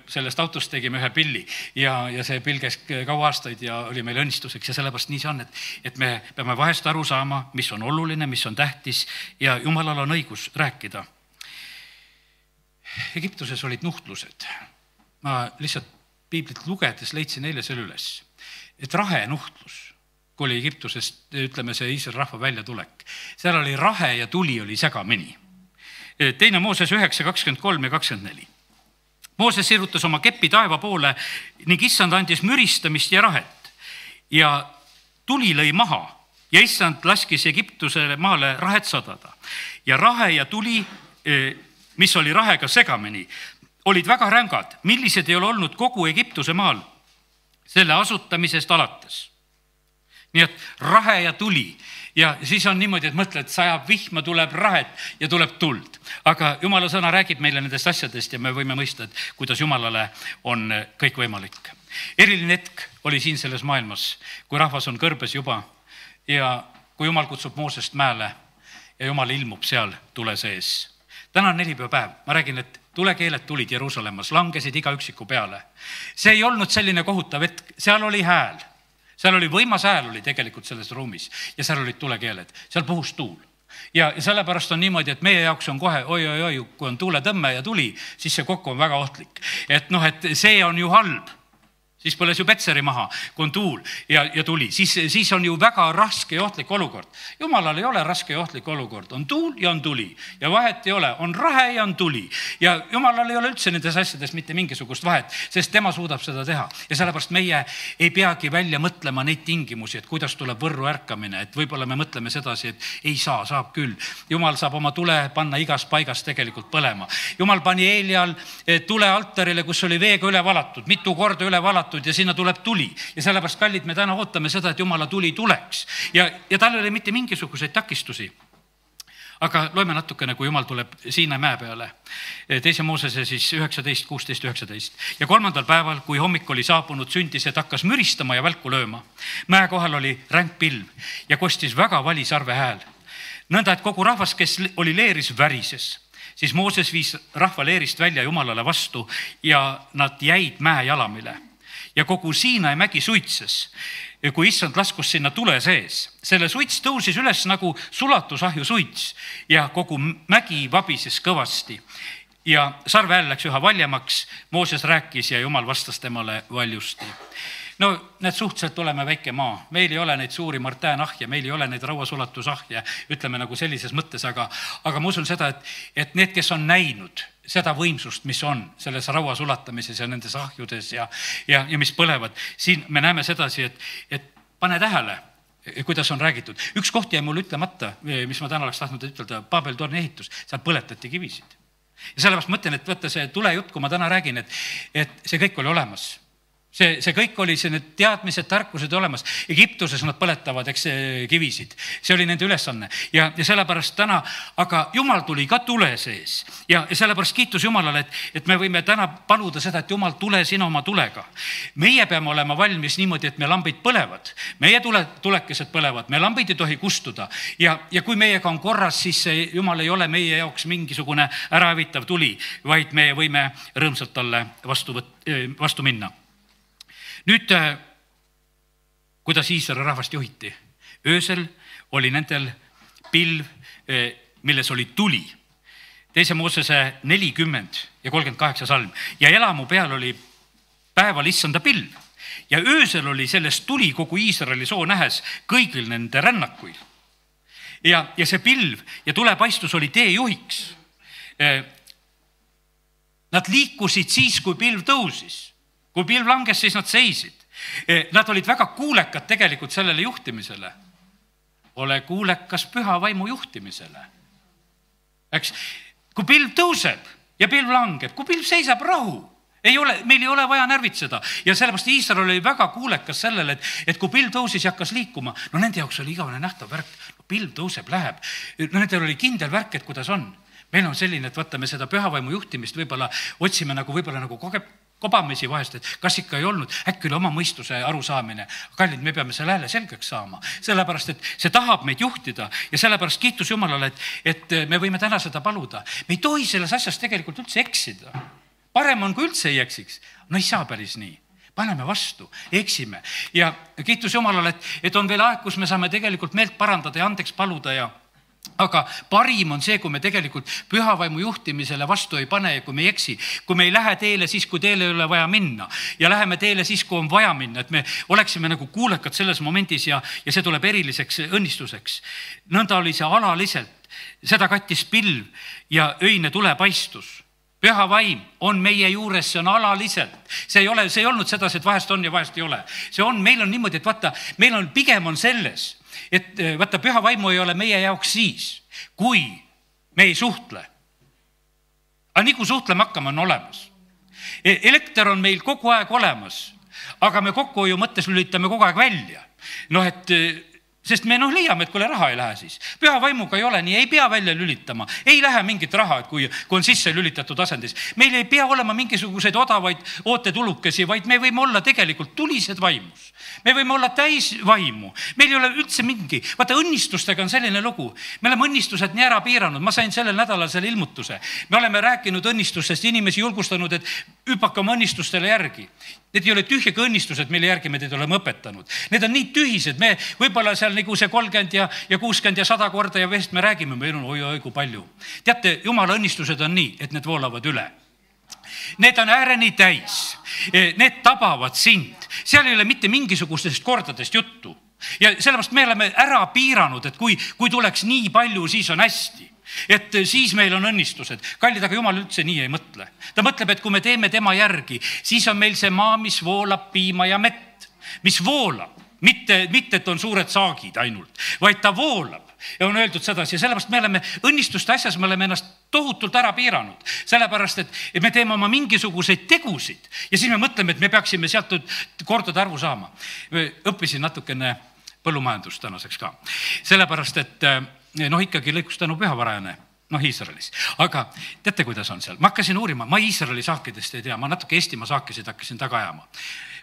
sellest autost tegime ühe pilli ja see pill käis kaua aastaid ja oli meil õnnistuseks ja sellepärast nii see on, et me peame vahest aru saama, mis on oluline, mis on tähtis ja Jumalal on õigus rääkida. Egiptuses olid nuhtlused. Ma lihtsalt piiblit lugedes leidsin eile selle üles, et rahe nuhtlus, kui oli Egiptusest, ütleme see Iisraeli rahva väljatulek. Seal oli rahe ja tuli oli segamini. Teine Mooses 9, 23 ja 24. Mooses sirutas oma kepi taeva poole ning issand andis müristamist ja rahet. Ja tuli lõi maha ja issand laskis Egiptusele maale rahet sadada. Ja rahe ja tuli, mis oli rahega segamini, olid väga rängad, millised ei ole olnud kogu Egiptuse maal selle asutamisest alates. Nii et rahe ja tuli ja siis on niimoodi, et mõtle, et sajab vihma, tuleb rahet ja tuleb tuld. Aga Jumala sõna räägib meile nendest asjadest ja me võime mõista, et kuidas Jumalale on kõik võimalik. Eriline hetk oli siin selles maailmas, kui rahvas on kõrbes juba ja kui Jumal kutsub Moosest mäele ja Jumal ilmub seal tule sees. Täna on nelipäev. Ma räägin, et tulekeeled tulid Jeruusalemmas, langesid iga üksiku peale. See ei olnud selline kohutav hetk, seal oli hääl. Seal oli võimas hääl oli tegelikult selles ruumis ja seal olid tulekeeled, seal puhus tuul. Ja sellepärast on niimoodi, et meie jaoks on kohe, oi, kui on tuuletõmme ja tuli, siis see kokku on väga ohtlik. Et see on ju halb. Siis põles ju Petseri maha, kui on tuul ja tuli. Siis on ju väga raske ja ohtlik olukord. Jumalal ei ole raske ja ohtlik olukord. On tuul ja on tuli. Ja vahet ei ole. On rahe ja on tuli. Ja Jumalal ei ole üldse nendes asjades mitte mingisugust vahet, sest tema suudab seda teha. Ja sellepärast meie ei peagi välja mõtlema neid tingimusi, et kuidas tuleb võrru ärkamine. Et võib-olla me mõtleme sedasi, et ei saa, saab küll. Jumal saab oma tule panna igas paigas tegelikult põlema. Jumal pani Eelial tule altarile, kus oli veega üle valatud, mitu korda üle valatud ja sinna tuleb tuli. Ja sellepärast, kallid, me täna ootame seda, et Jumala tuli tuleks. Ja tal ei ole mitte mingisuguseid takistusi. Aga loeme natukene, kui Jumal tuleb Siina mäe peale. Teise Moosese siis 19, 16, 19. Ja 3. päeval, kui hommik oli saabunud, sündis, et hakkas müristama ja välku lööma. Mäe kohal oli ränk pilv ja kostis väga vali sarve hääl. Nõnda, et kogu rahvas, kes oli leeris, värises. Siis Mooses viis rahva leerist välja Jumalale vastu ja nad jäid mäe jalamile. Ja kogu Siinai mägi suitses, kui issand laskus sinna tule sees. Selle suits tõusis üles nagu sulatusahju suits ja kogu mägi vabises kõvasti. Ja sarve hääl läks üha valjemaks, Mooses rääkis ja Jumal vastas temale valjusti. No need suhteliselt oleme väike maa, meil ei ole neid suuri martäänahje, meil ei ole neid rauasulatusahje, ütleme nagu sellises mõttes, aga ma usun seda, et need, kes on näinud seda võimsust, mis on selles rauasulatamises ja nendes ahjudes ja mis põlevad, siin me näeme sedasi, et pane tähele, kuidas on räägitud. Üks koht jäi mul ütlemata, mis ma täna oleks tahtnud ütelda, Babel-torni ehitus, seal põletati kivisid. Ja sellepärast mõtlen, et võtta see tulejutt, kui ma täna räägin, et see kõik oli olemas. see kõik oli see, need teadmised, tarkused olemas. Egiptuses nad põletavad, eks, kivisid. See oli nende ülesanne ja sellepärast täna, aga Jumal tuli ka tule sees ja sellepärast kiitus Jumalale, et me võime täna paluda seda, et Jumal, tule sina oma tulega. Meie peame olema valmis niimoodi, et me lambid põlevad. Meie tulekesed põlevad, me lambid ei tohi kustuda ja kui meiega on korras, siis Jumal ei ole meie jaoks mingisugune ärahävitav tuli, vaid me võime rõõmsalt talle vastu minna. Nüüd, kuidas Iisraeli rahvast juhiti? Öösel oli nendel pilv, milles oli tuli. Teise Moosese 40 ja 38 salm. Ja elamu peal oli päeval issanda pilv. Ja öösel oli sellest tuli kogu Iisraeli soo nähes kõigil nende rännakuil. Ja see pilv ja tulepaistus oli teejuhiks. Nad liikusid siis, kui pilv tõusis. Kui pilv langes, siis nad seisid. Nad olid väga kuulekad tegelikult sellele juhtimisele. Ole kuulekas püha vaimu juhtimisele. Eks, kui pilv tõuseb ja pilv langeb, kui pilv seisab, rahu. Meil ei ole vaja närvitseda. Ja sellepärast Iisrael oli väga kuulekas sellele, et kui pilv tõusis ja hakkas liikuma, no nende jaoks oli igavene nähtav värk. No, pilv tõuseb, läheb. No nendel oli kindel värk, et kuidas on. Meil on selline, et vaatame seda pühavaimu juhtimist, võib-olla otsime nagu kobamisi vahest, et kas ikka ei olnud, äkki oli oma mõistuse arusaamine. Kallid, me peame selle hääle selgeks saama, sellepärast, et see tahab meid juhtida ja sellepärast kiitus Jumalale, et me võime täna seda paluda. Me ei tohi selles asjas tegelikult üldse eksida. Parem on, kui üldse ei eksiks. No ei saa päris nii. Paneme vastu, eksime. Ja kiitus Jumalale, et on veel aeg, kus me saame tegelikult meelt parandada ja andeks paluda aga parim on see, kui me tegelikult pühavaimu juhtimisele vastu ei pane ja kui me ei eksi, kui me ei lähe teele siis, kui teele ei ole vaja minna ja läheme teele siis, kui on vaja minna, et me oleksime nagu kuulekad selles momendis ja see tuleb eriliseks õnnistuseks. Nõnda oli see alaliselt, seda kattis pilv ja öine tulepaistus. Püha vaim on meie juures, see on alaliselt. See ei olnud sedasi, et vahest on ja vahest ei ole. See on, meil on niimoodi, et vaata, meil on pigem on selles, et vaata, püha vaimu ei ole meie jaoks siis, kui me ei suhtle. Aga nii kui suhtlema hakkame, on olemas. Elekter on meil kogu aeg olemas, aga me kokkuhoiu mõttes lülitame kogu aeg välja. Sest me leiame, et kui raha ei lähe siis. Püha vaimuga ei ole nii, ei pea välja lülitama. Ei lähe mingit raha, kui on sisse lülitatud asendis. Meil ei pea olema mingisuguseid odavaid ootetulukesi, vaid me võime olla tegelikult tulised vaimus. Me võime olla täis vaimu. Meil ei ole üldse mingi. Vaata, õnnistustega on selline lugu. Me oleme õnnistused nii ära piiranud. Ma sain sellel nädalal selle ilmutuse. Me oleme rääkinud õnnistustest, inimesi julgustanud, et hüpake oma õnnistustele järgi. Need ei ole tühjega õnnistused, mille järgi me teid oleme õpetanud. Need on nii tühised. Me võibolla seal nagu see 30 ja 60 ja 100 korda ja vest me räägime, meil on oi kui palju. Teate, Jumala õnnistused on nii, et need voolavad üle. Need on ääreni täis. Need tabavad sind. Seal ei ole mitte mingisugustest kordadest juttu. Ja sellepärast me oleme ära piiranud, et kui tuleks nii palju, siis on hästi. Et siis meil on õnnistused. Kallid, aga Jumal üldse nii ei mõtle. Ta mõtleb, et kui me teeme tema järgi, siis on meil see maa, mis voolab piima ja mett. Mis voolab. Mitte, et on suured saagid ainult, vaid ta voolab. Ja on öeldud sedasi ja sellepärast me oleme õnnistuste asjas, me oleme ennast tohutult ära piiranud. Sellepärast, et me teeme oma mingisuguseid tegusid ja siis me mõtleme, et me peaksime sealt kordade arvu saama. Õppisin natukene põllumajandust tänaseks ka. Sellepärast, et ikkagi lõikus tänu pühavarajane, Iisraelis. Aga teate, kuidas on seal? Ma hakkasin uurima, ma Iisraeli saakidest ei tea, ma natuke Eestimaa saakisid hakkasin taga ajama.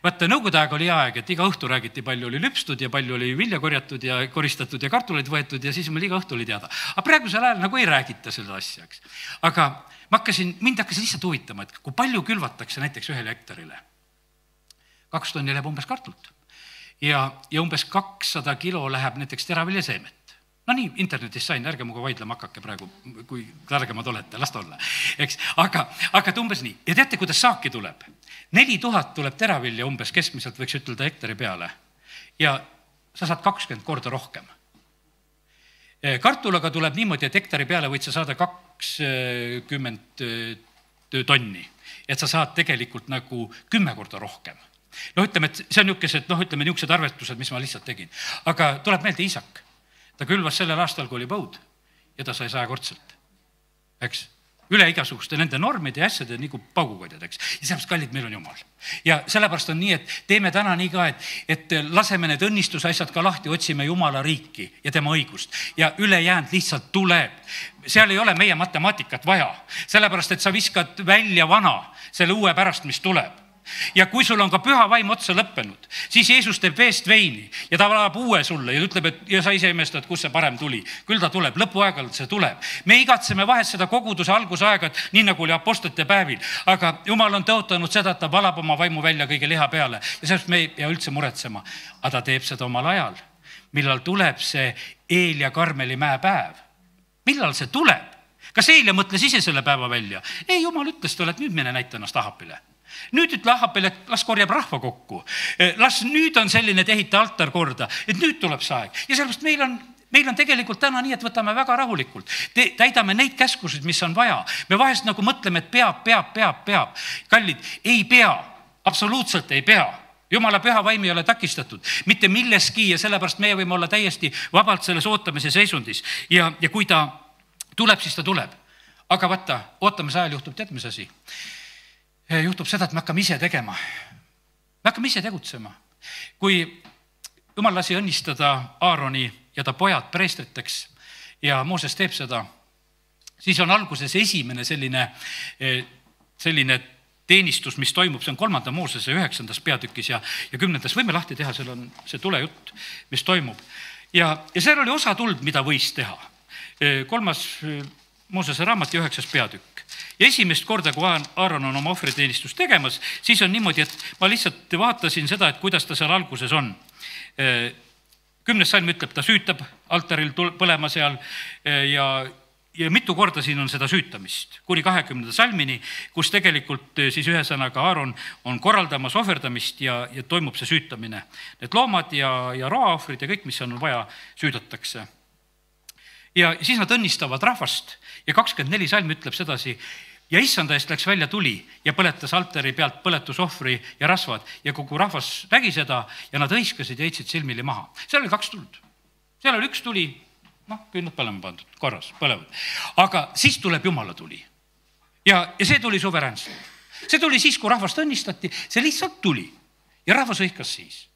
Vaata, nõukogude aeg oli aeg, et iga õhtu räägiti, palju oli lüpstud ja palju oli vilja korjatud ja koristatud ja kartuleid võetud ja siis meil iga õhtu oli teada. Aga praegusel ajal nagu ei räägita seda asjaks. Aga mind hakkas lihtsalt huvitama, et kui palju külvatakse näiteks 1 hektarile. 2 tonni läheb umbes kartult ja umbes 200 kilo läheb näiteks teraviljaseemet. No nii, internetis sain, ärge muga vaidlema hakake praegu, kui targemad olete, las ta olla. Eks? Aga umbes nii. Ja teate, kuidas saaki tuleb? 4000 tuleb teravilja umbes keskmiselt, võiks ütelda hektari peale. Ja sa saad 20 korda rohkem. Kartulaga tuleb niimoodi, et hektari peale võid sa saada 20 tonni. Et sa saad tegelikult nagu 10 korda rohkem. Ütleme, et see on niisugused arvestused, mis ma lihtsalt tegin. Aga tuleb meelde Iisak. Ta külvas sellel aastal, kui oli põud ja ta sai 100-kordselt. Eks? üle igasuguste nende normide ja asjade nagu paugukodjad, eks. Ja sellepärast, kallid, meil on Jumal. Ja sellepärast on nii, et teeme täna nii ka, et laseme need õnnistusasjad ka lahti, otsime Jumala riiki ja tema õigust ja ülejäänud lihtsalt tuleb. Seal ei ole meie matemaatikat vaja, sellepärast, et sa viskad välja vana selle uue pärast, mis tuleb. Ja kui sul on ka püha vaim otsa lõppenud, siis Jeesus teeb veest veini ja ta valab uue sulle ja ütleb, et ja sa ise imestad, kus see parem tuli. Küll ta tuleb, lõpuaegalt see tuleb. Me igatseme vahest seda koguduse algusaega, nii nagu oli apostlite päevil, aga Jumal on tõotanud seda, et ta valab oma vaimu välja kõige liha peale ja sellest me ei pea üldse muretsema. Aga ta teeb seda omal ajal, millal tuleb see Eel ja Karmeli mäe päev. Millal see tuleb? Kas Eelia mõtles ise selle päeva välja? Ei, Jumal ütles talle, et nüüd mine näita ennast Ahapile. Nüüd ütle Ahapile, et las korjab rahva kokku. Las nüüd on selline, et ehita altar korda, et nüüd tuleb see aeg. Ja sellest meil on tegelikult täna nii, et võtame väga rahulikult. Täidame neid käskusid, mis on vaja. Me vahest nagu mõtleme, et peab. Kallid, ei pea, absoluutselt ei pea. Jumala püha vaim ei ole takistatud, mitte milleski ja sellepärast meie võime olla täiesti vabalt selles ootamise seisundis. Ja kui ta tuleb, siis ta tuleb. Aga vaata, ootamise ajal juhtub tead, mis asi? Juhtub seda, et me hakkame ise tegema. Me hakkame ise tegutsema. Kui Jumal lasi õnnistada Aaroni ja ta pojad preestriteks ja Mooses teeb seda, siis on alguses esimene selline teenistus, mis toimub, see on 3. Moosese 9. peatükis ja 10. Võime lahti teha, seal on see tulejutt, mis toimub. Ja seal oli osa tuld, mida võis teha. 3. Moosese raamat ja 9. peatükk. Ja esimest korda, kui Aaron on oma ohvriteenistust tegemas, siis on niimoodi, et ma lihtsalt vaatasin seda, et kuidas ta seal alguses on. 10. salm ütleb, ta süütab altaril põlema seal ja mitu korda siin on seda süütamist. Kuni 20. salmini, kus tegelikult siis ühesõnaga Aaron on korraldamas ohverdamist ja toimub see süütamine. Need loomad ja roaohvrid ja kõik, mis on vaja, süüdatakse. Ja siis nad õnnistavad rahvast ja 24 salm ütleb sedasi ja issanda eest läks välja tuli ja põletas altari pealt põletusohvri ja rasvad ja kogu rahvas nägi seda ja nad hõiskasid ja heitsid silmili maha. Seal oli 2 tuld. Seal oli 1 tuli, küll nad põlema pandud, korras, põlevad. Aga siis tuleb Jumala tuli. Ja see tuli suveräänselt. See tuli siis, kui rahvast õnnistati, see lihtsalt tuli ja rahvas hõiskas siis.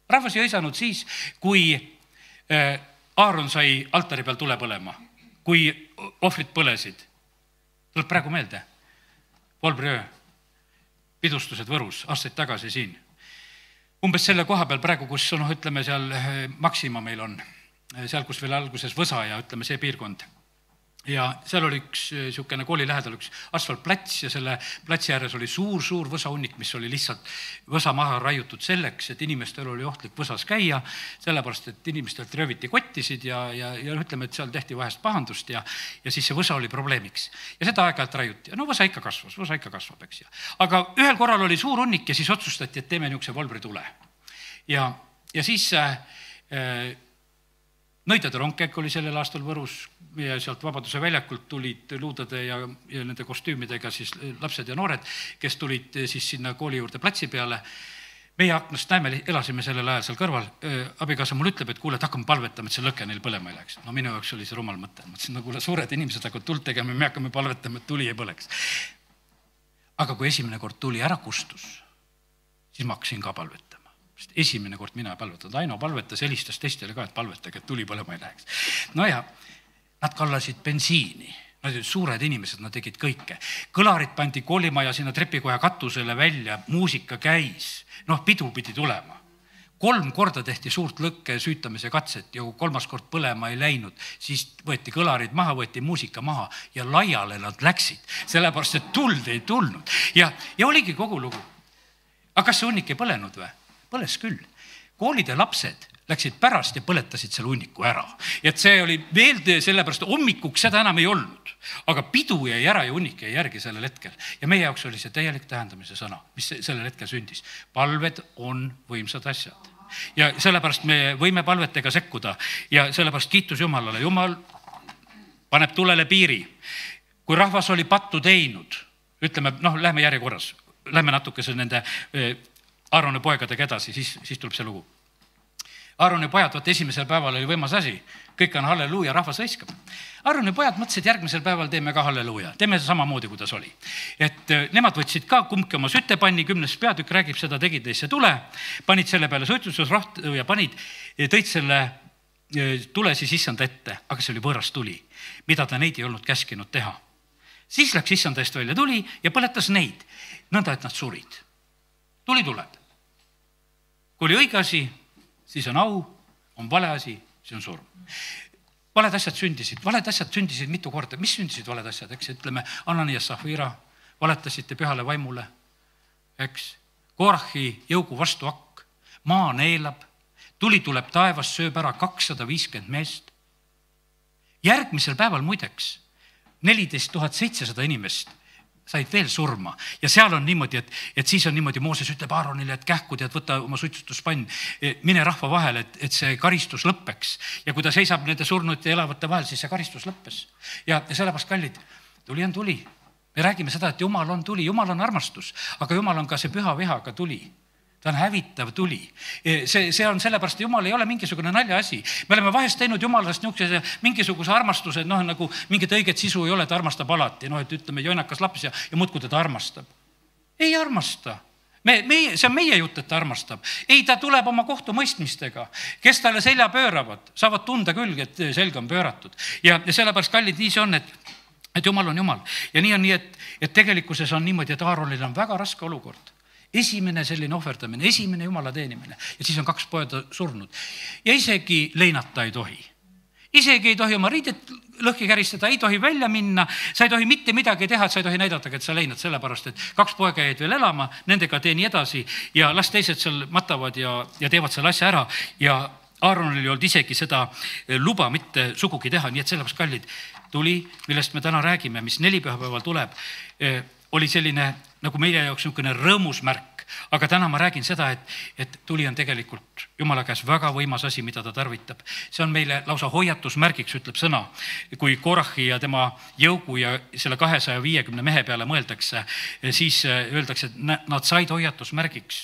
Rahvas ei hõisanud siis, kui Aaron sai altari peal tule põlema, kui ohvrid põlesid. Tuleb praegu meelde. Volbriöö, pidustused Võrus, aastaid tagasi siin. Umbes selle koha peal praegu, kus ütleme seal Maxima meil on, seal, kus veel alguses Võsa ja ütleme see piirkond. Ja seal oli üks siukene kooli lähedal üks asfaltplats ja selle platsi ääres oli suur võsahunnik, mis oli lihtsalt võsa maha raiutud selleks, et inimestel oli ohtlik võsas käia, sellepärast, et inimestelt rööviti kottisid ja ütleme, et seal tehti vahest pahandust ja siis see võsa oli probleemiks. Ja seda aeg-ajalt raiuti. No võsa ikka kasvab, eks. Aga ühel korral oli suur hunnik ja siis otsustati, et teeme niisuguse Volbri tule. Ja siis Nõidade rongkäik oli sellel aastal Võrus ja sealt Vabaduse väljakult tulid luudade ja nende kostüümidega siis lapsed ja noored, kes tulid siis sinna kooli juurde platsi peale. Meie aknast näeme, elasime sellel ajal seal kõrval. Abikaasa mul ütleb, et kuule, et hakkame palvetama, et see lõke neil põlema ei läheks. No minu jaoks oli see rumal mõte. Mõtlesin, kuule, suured inimesed hakkavad tuld tegema, me hakkame palvetama, et tuli ei põleks. Aga kui esimene kord tuli ära kustus, siis ma hakkasin ka palvetama. Esimene kord mina palvetanud, Aino palvetas, helistas teistele ka, et palvetage, et tuli põlema ei läheks. No ja nad kallasid bensiini, nad olid suured inimesed, nad tegid kõike. Kõlarid pandi koolimaja sinna trepikoja katusele välja, muusika käis, pidu pidi tulema. 3 korda tehti suurt lõkke süütamise katset ja 3. kord põlema ei läinud, siis võeti kõlarid maha, võeti muusika maha ja laiale nad läksid, sellepärast, et tuld ei tulnud. Ja oligi kogu lugu. Aga kas see hunnik ei põlenud või? Põles küll. Koolide lapsed läksid pärast ja põletasid selle hunniku ära. Et see oli veel sellepärast, hommikuks seda enam ei olnud. Aga pidu jäi ära ja hunnik jäi järgi sellel hetkel. Ja meie jaoks oli see täielik tähendamise sõna, mis sellel hetkel sündis. Palved on võimsad asjad. Ja sellepärast me võime palvetega sekkuda ja sellepärast kiitus Jumalale. Jumal paneb tulele piiri. Kui rahvas oli pattu teinud, ütleme, lähme järjekorras, lähme natukese nende Aaroni poegadega edasi, siis tuleb see lugu. Aaroni pojad, vaata esimesel päeval oli võimas asi, kõik on halleluuja, rahvas hõiskab. Aaroni pojad mõtlesid, järgmisel päeval teeme ka halleluuja, teeme samamoodi, kuidas oli. Et nemad võtsid ka kumbki oma sütepanni, 10. peatükk räägib seda, tegid neisse tule, panid selle peale suitsustusrohtu ja tõid selle tule siis issanda ette, aga see oli võõras tuli, mida ta neid ei olnud käskinud teha. Siis läks issanda eest välja tuli ja põletas neid, nõnda, et nad surid. Tuli tuleb. Kui oli õige asi, siis on au, on vale asi, see on surm. Valed asjad sündisid mitu korda. Mis sündisid valed asjad, eks? Ütleme, Anani ja Safira valetasite pühale vaimule, eks? Korahi jõugu vastu hakk, maa neelab, tuli tuleb taevas, sööb ära 250 meest. Järgmisel päeval muideks 14 700 inimest said veel surma ja seal on niimoodi, et siis on niimoodi, Mooses ütleb Aaronile, et kähku tead, võta oma suitsutuspann, mine rahva vahele, et see karistus lõppeks. Ja kui ta seisab nende surnute ja elavate vahel, siis see karistus lõppes. Ja sellepärast, kallid, tuli on tuli. Me räägime seda, et Jumal on tuli, Jumal on armastus, aga Jumal on ka see püha vihaga tuli. Ta on hävitav tuli. See on sellepärast, Jumal ei ole mingisugune nalja asi. Me oleme vahest teinud Jumalast mingisuguse armastuse, nagu mingit õiget sisu ei ole, ta armastab alati. Et ütleme, joinakas laps ja muudkui teda armastab. Ei armasta. See on meie jutt, et ta armastab. Ei, ta tuleb oma kohtumõistmistega. Kes talle selja pööravad, saavad tunda küll, et selg on pööratud. Ja sellepärast, kallid, nii see on, et Jumal on Jumal. Ja nii on nii, et tegelikkuses on niimoodi, et Aaronil on väga raske olukord. Esimene selline ohverdamine, esimene Jumala teenimine ja siis on 2 poeda surnud. Ja isegi leinata ei tohi. Isegi ei tohi oma riidet lõhki käristada, ei tohi välja minna, sa ei tohi mitte midagi teha, et sa ei tohi näidata, et sa leinad sellepärast, et 2 poega jäid veel elama, nendega teeni edasi ja las teised seal matavad ja teevad selle asja ära ja Aaronil ei olnud isegi seda luba mitte sugugi teha, nii et sellepärast, kallid, tuli, millest me täna räägime, mis 4 pühapäeval tuleb, oli selline nagu meie jaoks niisugune rõõmus märk, aga täna ma räägin seda, et tuli on tegelikult Jumala käes väga võimas asi, mida ta tarvitab. See on meile lausa hoiatusmärgiks, ütleb sõna, kui Korahi ja tema jõugu ja selle 250 mehe peale mõeldakse, siis öeldakse, et nad said hoiatusmärgiks.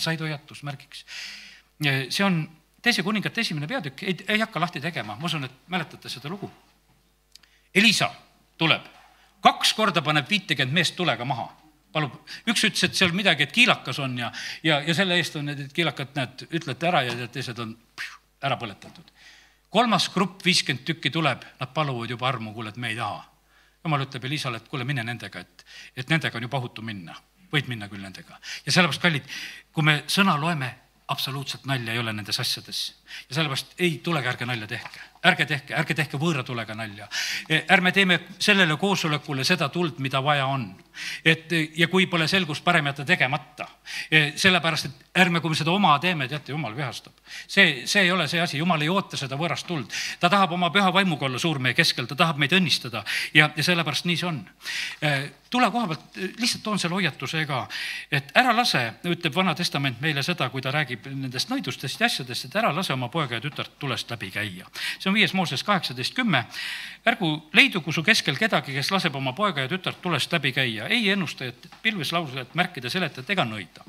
See on 2. kuningate 1. peatükk, ei hakka lahti tegema, ma usun, et mäletate seda lugu. Elisa tuleb, 2 korda paneb 50 meest tulega maha. Palub. Üks ütles, et seal midagi, et kiilakas on ja selle eest on need kiilakad, näed, ütlete ära ja teised on ära põletatud. 3. grupp 50 tükki tuleb, nad paluvad juba armu, kuule, et me ei taha. Jumal ütleb Elisale, et kuule, mine nendega, et nendega on juba ohutu minna. Võid minna küll nendega. Ja sellepärast, kallid, kui me sõna loeme, absoluutselt nalja ei ole nendes asjades. Ja sellepärast ei tulegi, ärge nalja tehke. Ärge tehke võõra tulega nalja. Ärme teeme sellele koosolekule seda tuld, mida vaja on. Ja kui pole selgust, parem jätta tegemata. Sellepärast, et ärme, kui me seda oma teeme, teate, Jumal vihastab. See ei ole see asi, Jumal ei oota seda võõrast tuld. Ta tahab oma püha vaimuga olla suur meie keskel, ta tahab meid õnnistada ja sellepärast nii see on. Tule koha pealt, lihtsalt toon selle hoiatuse ka, et ära lase, ütleb Vana Testament meile seda, kui ta räägib nendest nõidustest ja asjadest, et ära lase oma poega ja tütart tulest läbi käia. See on 5. Mooses 18:10. Ärgu leidugu su keskel kedagi, kes laseb oma poega ja tütart tulest läbi käia. Ei ennustajat, pilveslausajat, märkida, seletajat ega nõida.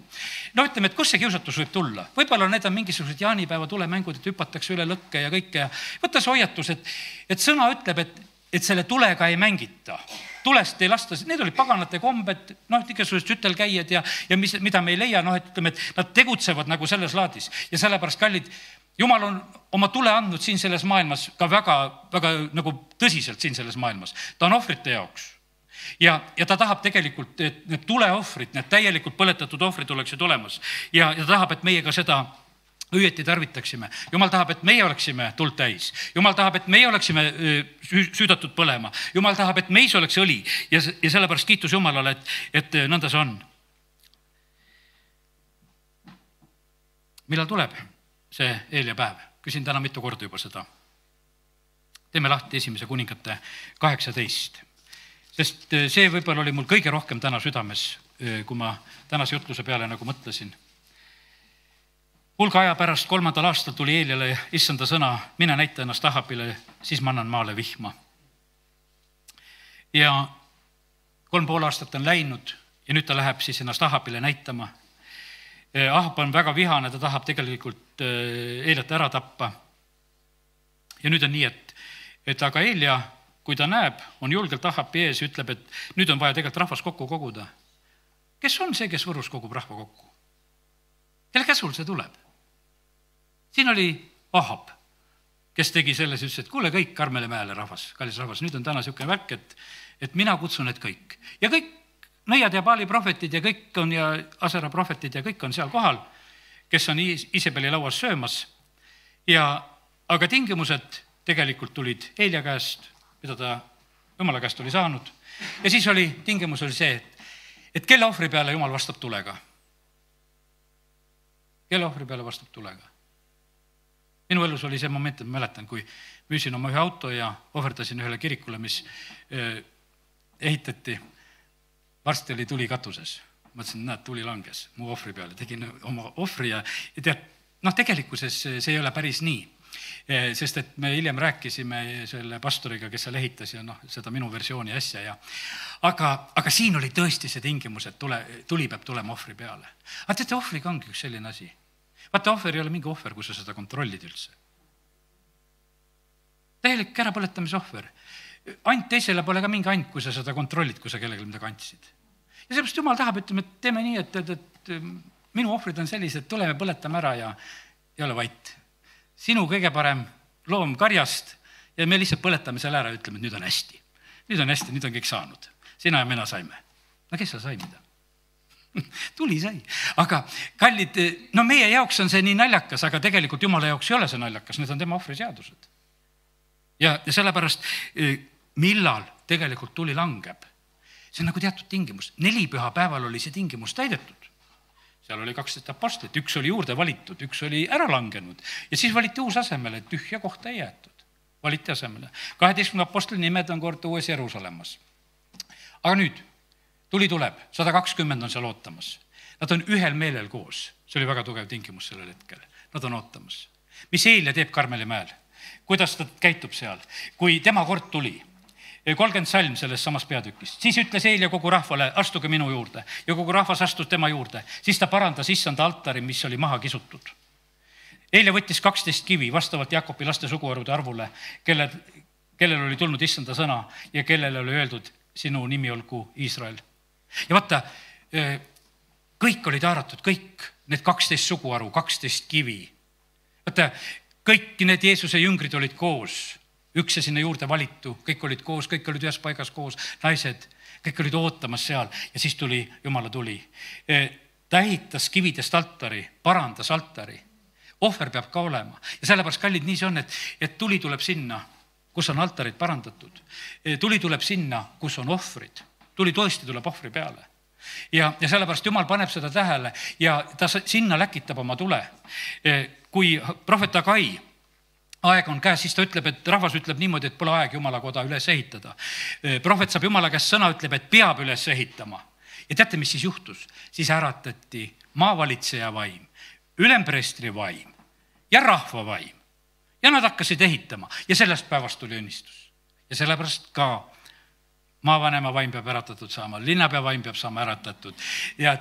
Ütleme, et kus see kiusatus võib tulla? Võib-olla need on mingisugused jaanipäeva tulemängud, et hüpatakse üle lõkke ja kõike. Võtta see hoiatus, et sõna ütleb, et selle tulega ei mängita. Tulest ei lasta, need olid paganate kombed, igasugused sütelkäijad ja mida me ei leia, ütleme, et nad tegutsevad nagu selles laadis. Ja sellepärast, kallid, Jumal on oma tule andnud siin selles maailmas ka väga, väga nagu tõsiselt siin selles maailmas. Ta on ohvrite jaoks. Ja ta tahab tegelikult, et need tuleohvrid, need täielikult põletatud ohvrid oleksid olemas. Ja ta tahab, et meie ka seda õieti tarvitaksime. Jumal tahab, et meie oleksime tuld täis. Jumal tahab, et meie oleksime süüdatud põlema. Jumal tahab, et meis oleks õli. Ja sellepärast kiitus Jumalale, et nõnda see on. Millal tuleb see eel ja päev? Küsin täna mitu korda juba seda. Teeme lahti 1. kuningate 18. Sest see võib-olla oli mul kõige rohkem täna südames, kui ma tänase jutluse peale nagu mõtlesin. Hulga aja pärast 3. aastal tuli Eeliale issanda sõna, mine näita ennast Ahabile, siis ma annan maale vihma. Ja 3,5 aastat on läinud ja nüüd ta läheb siis ennast Ahabile näitama. Ahab on väga vihane, ta tahab tegelikult Eeliat ära tappa. Ja nüüd on nii, et aga Eelia, kui ta näeb, on julgelt Ahabi ees, ütleb, et nüüd on vaja tegelikult rahvas kokku koguda. Kes on see, kes Võrus kogub rahva kokku? Kelle käsul see tuleb? Siin oli Ahab, kes tegi selles, ütles, et kuule kõik Karmele mäele rahvas, kallis rahvas, nüüd on täna niisugune värk, et mina kutsun, et kõik. Ja kõik nõiad ja Baali prohvetid ja kõik on ja Asera prohvetid ja kõik on seal kohal, kes on Iisabeli lauas söömas. Aga tingimused tegelikult tulid Eelia käest, mida ta Jumala käest oli saanud. Ja siis tingimus oli see, et kelle ohvri peale Jumal vastab tulega. Kelle ohvri peale vastab tulega. Minu elus oli see moment, et ma mäletan, kui müüsin oma ühe auto ja ohverdasin ühele kirikule, mis ehitati. Varsti oli tuli katuses. Mõtlesin, näed, tuli langes mu ohvri peale. Tegin oma ohvri ja tead, tegelikkuses see ei ole päris nii. Sest et me hiljem rääkisime selle pastoriga, kes seal ehitas ja seda minu versiooni asja. Aga siin oli tõesti see tingimus, et tuli peab tulema ohvri peale. Aga teate, ohvriga ongi üks selline asi. Vaata, ohver ei ole mingi ohver, kui sa seda kontrollid üldse. Täielik ärapõletamise ohver. Ant teisele pole ka mingi ant, kui sa seda kontrollid, kui sa kellelegi midagi andsid. Ja sellepärast Jumal tahab, ütleme, et teeme nii, et minu ohvrid on sellised, tuleme põletame ära ja ei ole vait. Sinu kõige parem loom karjast ja me lihtsalt põletame selle ära ja ütleme, et nüüd on hästi. Nüüd on hästi, nüüd on kõik saanud. Sina ja mina saime. No kes sa sai mida? Tuli sai. Aga kallid, meie jaoks on see nii naljakas, aga tegelikult Jumala jaoks ei ole see naljakas, need on tema ohvriseadused. Ja sellepärast, millal tegelikult tuli langeb, see on nagu teatud tingimus. 4 pühapäeval oli see tingimus täidetud. Seal oli 12 apostlit, üks oli juurde valitud, üks oli ära langenud ja siis valiti uus asemele, tühja kohta ei jäetud. Valiti asemele. 12 apostli nimed on kord uues Jeruusalemmas. Aga nüüd, tuli tuleb, 120 on seal ootamas. Nad on ühel meelel koos. See oli väga tugev tingimus sellel hetkel. Nad on ootamas. Mis Eelia teeb Karmeli mäel? Kuidas ta käitub seal? Kui tema kord tuli, 30 salm selles samas peatükist. Siis ütles Eelia kogu rahvale, astuge minu juurde. Ja kogu rahvas astus tema juurde. Siis ta parandas issanda altari, mis oli maha kisutud. Eelia võttis 12 kivi vastavalt Jaakobi laste suguharude arvule, kellel oli tulnud issanda sõna ja kellele oli öeldud, sinu nimi olgu Iisrael. Ja vaata, kõik olid haaratud, kõik need 12 suguharu, 12 kivi. Vaata, kõik need Jeesuse jüngrid olid koos. Üks ja sinna juurde valitu, kõik olid koos, kõik olid ühes paigas koos, naised, kõik olid ootamas seal ja siis tuli, Jumala tuli. Ta ehitas kividest altari, parandas altari. Ohver peab ka olema. Ja sellepärast, kallid, nii see on, et tuli tuleb sinna, kus on altarid parandatud. Tuli tuleb sinna, kus on ohvrid. Tuli tõesti tuleb ohvri peale. Ja sellepärast Jumal paneb seda tähele ja ta sinna läkitab oma tule. Kui prohvet Agai aeg on käes, siis ta ütleb, et rahvas ütleb niimoodi, et pole aeg Jumala koda üles ehitada. Prohvet saab Jumala käest sõna, ütleb, et peab üles ehitama. Ja teate, mis siis juhtus? Siis äratati maavalitseja vaim, ülempreestri vaim ja rahva vaim. Ja nad hakkasid ehitama ja sellest päevast tuli õnnistus. Ja sellepärast ka maavanema vaim peab äratatud saama, linnapea vaim peab saama äratatud ja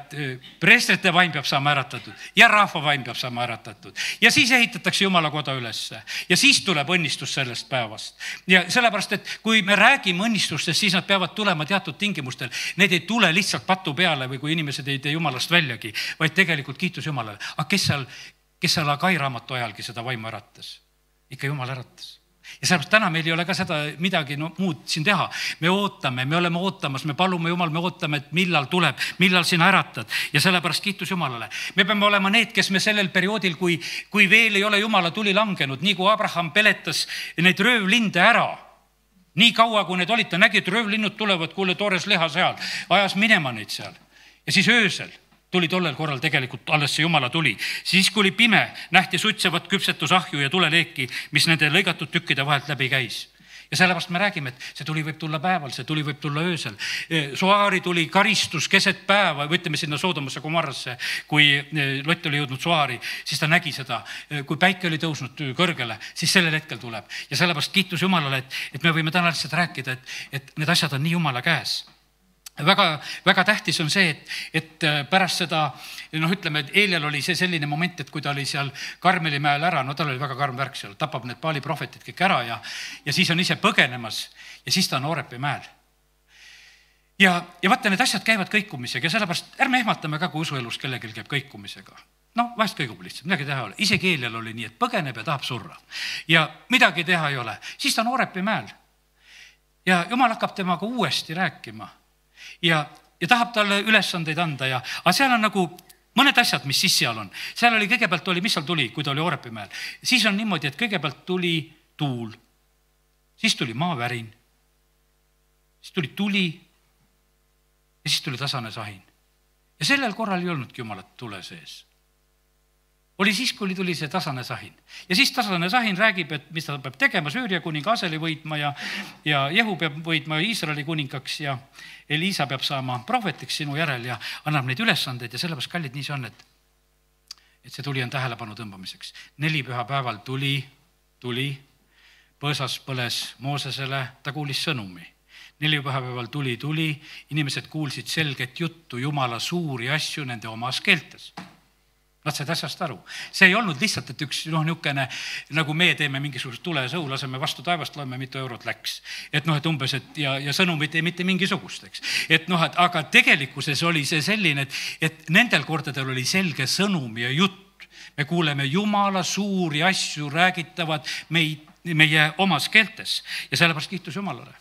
preestrite vaim peab saama äratatud ja rahva vaim peab saama äratatud. Ja siis ehitatakse Jumala koda ülesse ja siis tuleb õnnistus sellest päevast. Ja sellepärast, et kui me räägime õnnistustest, siis nad peavad tulema teatud tingimustel. Need ei tule lihtsalt patu peale või kui inimesed ei tee Jumalast väljagi, vaid tegelikult kiitus Jumalale. Aga kes seal Agai raamatu ajalgi seda vaimu äratas? Ikka Jumal äratas. Ja sellepärast täna meil ei ole ka seda midagi muud siin teha. Me ootame, me oleme ootamas, me palume Jumal, me ootame, et millal tuleb, millal sina äratad. Ja sellepärast kiitus Jumalale. Me peame olema need, kes me sellel perioodil, kui veel ei ole Jumala tuli langenud, nii kui Abraham peletas neid röövlinde ära, nii kaua kui need olid, ta nägi, et röövlinnud tulevad, kuule toores liha seal, ajas minema neid seal. Ja siis öösel tuli tollel korral tegelikult alles see Jumala tuli. Siis kui oli pime, nähti sutsevat küpsetusahju ja tuleleeki, mis nende lõigatud tükkide vahelt läbi käis. Ja sellepärast me räägime, et see tuli võib tulla päeval, see tuli võib tulla öösel. Soari tuli karistus keset päeva, võtame sinna Soodomasse Gomorrasse, kui Lott oli jõudnud Soari, siis ta nägi seda, kui päike oli tõusnud kõrgele, siis sellel hetkel tuleb. Ja sellepärast kiitus Jumalale, et me võime täna lihtsalt rääkida, et need asjad on nii Jumala käes. väga tähtis on see, et pärast seda, ütleme, et Eelial oli see selline moment, et kui ta oli seal Karmeli mäel ära, tal oli väga karm värk seal, tapab need Baali prohvetid kõik ära ja siis on ise põgenemas ja siis ta on Oorepi mäel. Ja vaata, need asjad käivad kõikumisega ja sellepärast ärme ehmatame ka, kui usuelus kellelgi käib kõikumisega. Vahest kõigub lihtsalt, midagi teha ei ole. Isegi Eelial oli nii, et põgeneb ja tahab surra. Ja midagi teha ei ole. Siis ta on Oorepi mäel. Ja Jumal hakkab temaga uuesti rääkima. Ja tahab talle ülesandeid anda aga seal on nagu mõned asjad, mis siis seal on. Seal oli kõigepealt mis seal tuli, kui ta oli Oorepi mäel. Siis on niimoodi, et kõigepealt tuli tuul, siis tuli maavärin, siis tuli tuli ja siis tuli tasane sahin. Ja sellel korral ei olnudki Jumalat tule sees. Oli siis, kui tuli see tasane sahin. Ja siis tasane sahin räägib, et mis ta peab tegema, Süüria kuninga Aseli võitma ja Jehu peab võitma Iisraeli kuningaks ja Eliisa peab saama prohvetiks sinu järel ja annab neid ülesandeid ja sellepärast, kallid, nii see on, et see tuli on tähelepanu tõmbamiseks. 4 pühapäeval tuli, põõsas põles Moosesele, ta kuulis sõnumi. 4 pühapäeval tuli, inimesed kuulsid selget juttu, Jumala suuri asju nende omas keeltes. Nad said asjast aru. See ei olnud lihtsalt, et üks niukene, nagu me teeme mingisugust tule ja sõu, laseme vastu taevast, loeme, mitu eurot läks. Et umbes, ja sõnumit ei mitte mingisugust, eks. Aga tegelikkuses oli see selline, et nendel kordadel oli selge sõnum ja jutt. Me kuuleme Jumala suuri asju räägitavad meie omas keeltes ja sellepärast kiitus Jumalale.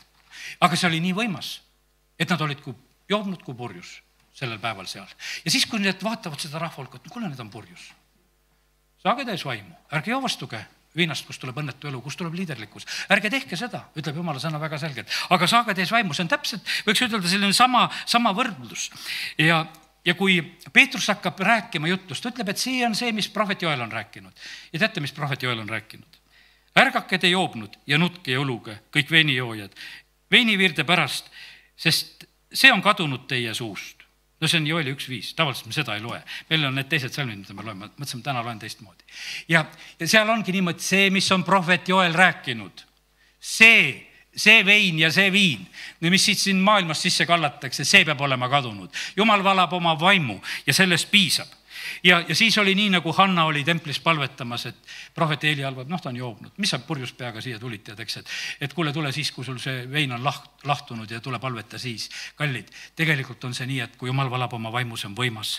Aga see oli nii võimas, et nad olid joobnud kui purjus sellel päeval seal. Ja siis, kui need vaatavad seda rahvahulka, kuule, need on purjus. Saage täis vaimu, ärge joovastuge viinast, kus tuleb õnnetu elu, kus tuleb liiderlikkus. Ärge tehke seda, ütleb Jumala sõna väga selgelt. Aga saage täis vaimu, see on täpselt, võiks ütelda selline sama võrdlus. Ja kui Peetrus hakkab rääkima jutust, ütleb, et see on see, mis prohvet Joel on rääkinud. Ja teate, mis prohvet Joel on rääkinud? Ärgake te joobnud ja nutke ja õluge, kõik veinijoojad, veinivirde pärast, sest see on kadunud teie suust. See on Joeli 1.5, tavaliselt me seda ei loe. Meil on need teised salmid, mida me loeme, mõtlesime, täna loen teistmoodi. Ja seal ongi niimoodi see, mis on prohvet Joel rääkinud. See vein ja see viin, mis siit siin maailmas sisse kallatakse, see peab olema kadunud. Jumal valab oma vaimu ja sellest piisab. Ja siis oli nii, nagu Hanna oli templis palvetamas, et prohvet Eeli alvab, ta on joobnud. Mis sa purjus peaga siia tulid, et kuule, tule siis, kui sul see vein on lahtunud ja tule palveta siis. Kallid, tegelikult on see nii, et kui Jumal valab oma vaimu, see on võimas.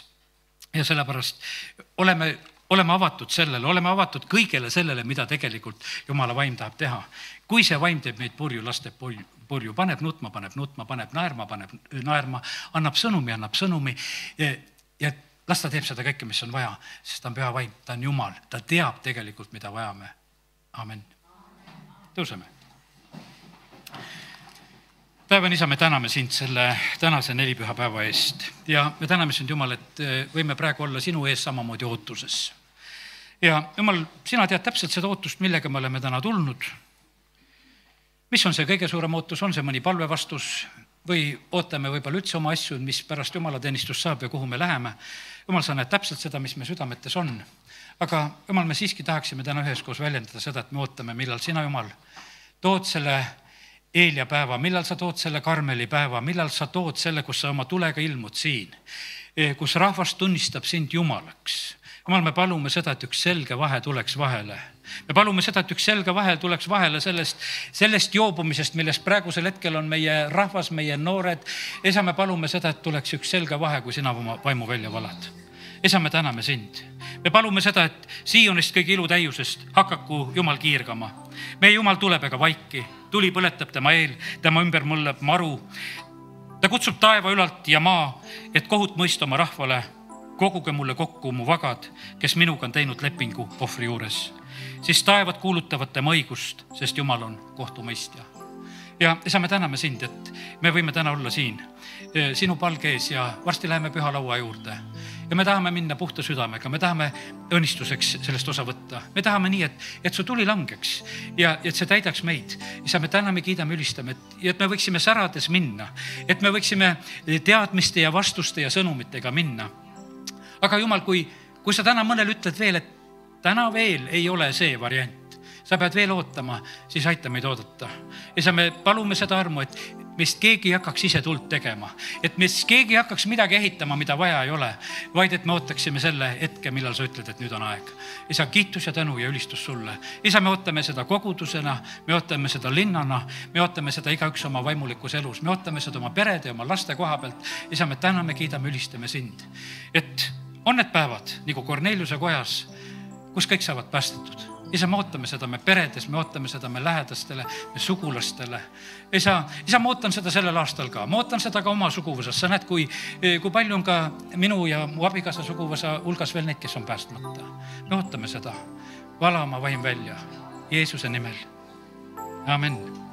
Ja sellepärast oleme avatud sellele, oleme avatud kõigele sellele, mida tegelikult Jumala vaim tahab teha. Kui see vaim teeb meid purju, lasteb purju, paneb nutma, paneb naerma, annab sõnumi ja las ta teeb seda kõike, mis on vaja, sest ta on püha vaim, ta on Jumal, ta teab tegelikult, mida vajame. Amen. Tõuseme. Päevan isa, me täname sind selle tänase 4 pühapäeva eest ja me täname sind, Jumal, et võime praegu olla sinu ees samamoodi ootuses. Ja Jumal, sina tead täpselt seda ootust, millega me oleme täna tulnud. Mis on see kõige suurem ootus, on see mõni palve vastus või ootame võib-olla üldse oma asju, mis pärast Jumala teenistus saab ja kuhu me läheme. Jumal, sa näed täpselt seda, mis me südametes on. Aga Jumal, me siiski tahaksime täna üheskoos väljendada seda, et me ootame, millal sina, Jumal, tood selle Eelia päeva, millal sa tood selle Karmeli päeva, millal sa tood selle, kus sa oma tulega ilmud siin, kus rahvas tunnistab sind Jumalaks. Jumal, me palume seda, et üks selge vahe tuleks vahele. Me palume seda, et üks selge vahe tuleks vahele sellest joobumisest, millest praegusel hetkel on meie rahvas, meie noored. Esa, me palume seda, et tuleks üks selge vahe, kui sina oma vaimu välja valad. Esa, me täname sind. Me palume seda, et Siionist kõige ilu täiusest hakaku Jumal kiirgama. Meie Jumal tuleb ega vaiki, tuli põletab tema eel, tema ümber mõllab maru. Ta kutsub taeva ülalt ja maa, et kohut mõista oma rahvale. Koguge mulle kokku mu vagad, kes minuga on teinud lepingu ohvri juures. Siis taevad kuulutavad tema õigust, sest Jumal on kohtumõistja. Ja isa, me täname sind, et me võime täna olla siin sinu palge ees ja varsti läheme püha laua juurde. Ja me tahame minna puhta südamega, me tahame õnnistuseks sellest osa võtta. Me tahame nii, et su tuli langeks ja et see täidaks meid. Isa, me täname, kiidame, ülistame, et me võiksime särades minna, et me võiksime teadmiste ja vastuste ja sõnumitega minna. Aga Jumal, kui sa täna mõnel ütled veel, et täna veel ei ole see variant, sa pead veel ootama, siis aita meid oodata. Ja me palume seda armu, et meist keegi ei hakkaks ise tuld tegema, et meist keegi ei hakkaks midagi ehitama, mida vaja ei ole, vaid et me ootaksime selle hetke, millal sa ütled, et nüüd on aeg. Isa, kiitus ja tänu ja ülistus sulle. Isa, me ootame seda kogudusena, me ootame seda linnana, me ootame seda igaüks oma vaimulikus elus, me ootame seda oma perede ja oma laste koha pealt. Isa, me täname, kiidame, ülistame sind, et on need päevad nagu Korneliuse kojas, kus kõik saavad päästetud. Isa, me ootame seda me peredes, me ootame seda me lähedastele, me sugulastele. Isa, ma ootan seda sellel aastal ka. Ma ootan seda ka oma suguvõsas. Sa näed, kui palju on ka minu ja mu abikaasa suguvõsa hulgas veel neid, kes on päästmata. Me ootame seda. Vala oma vaim välja. Jeesuse nimel. Amen.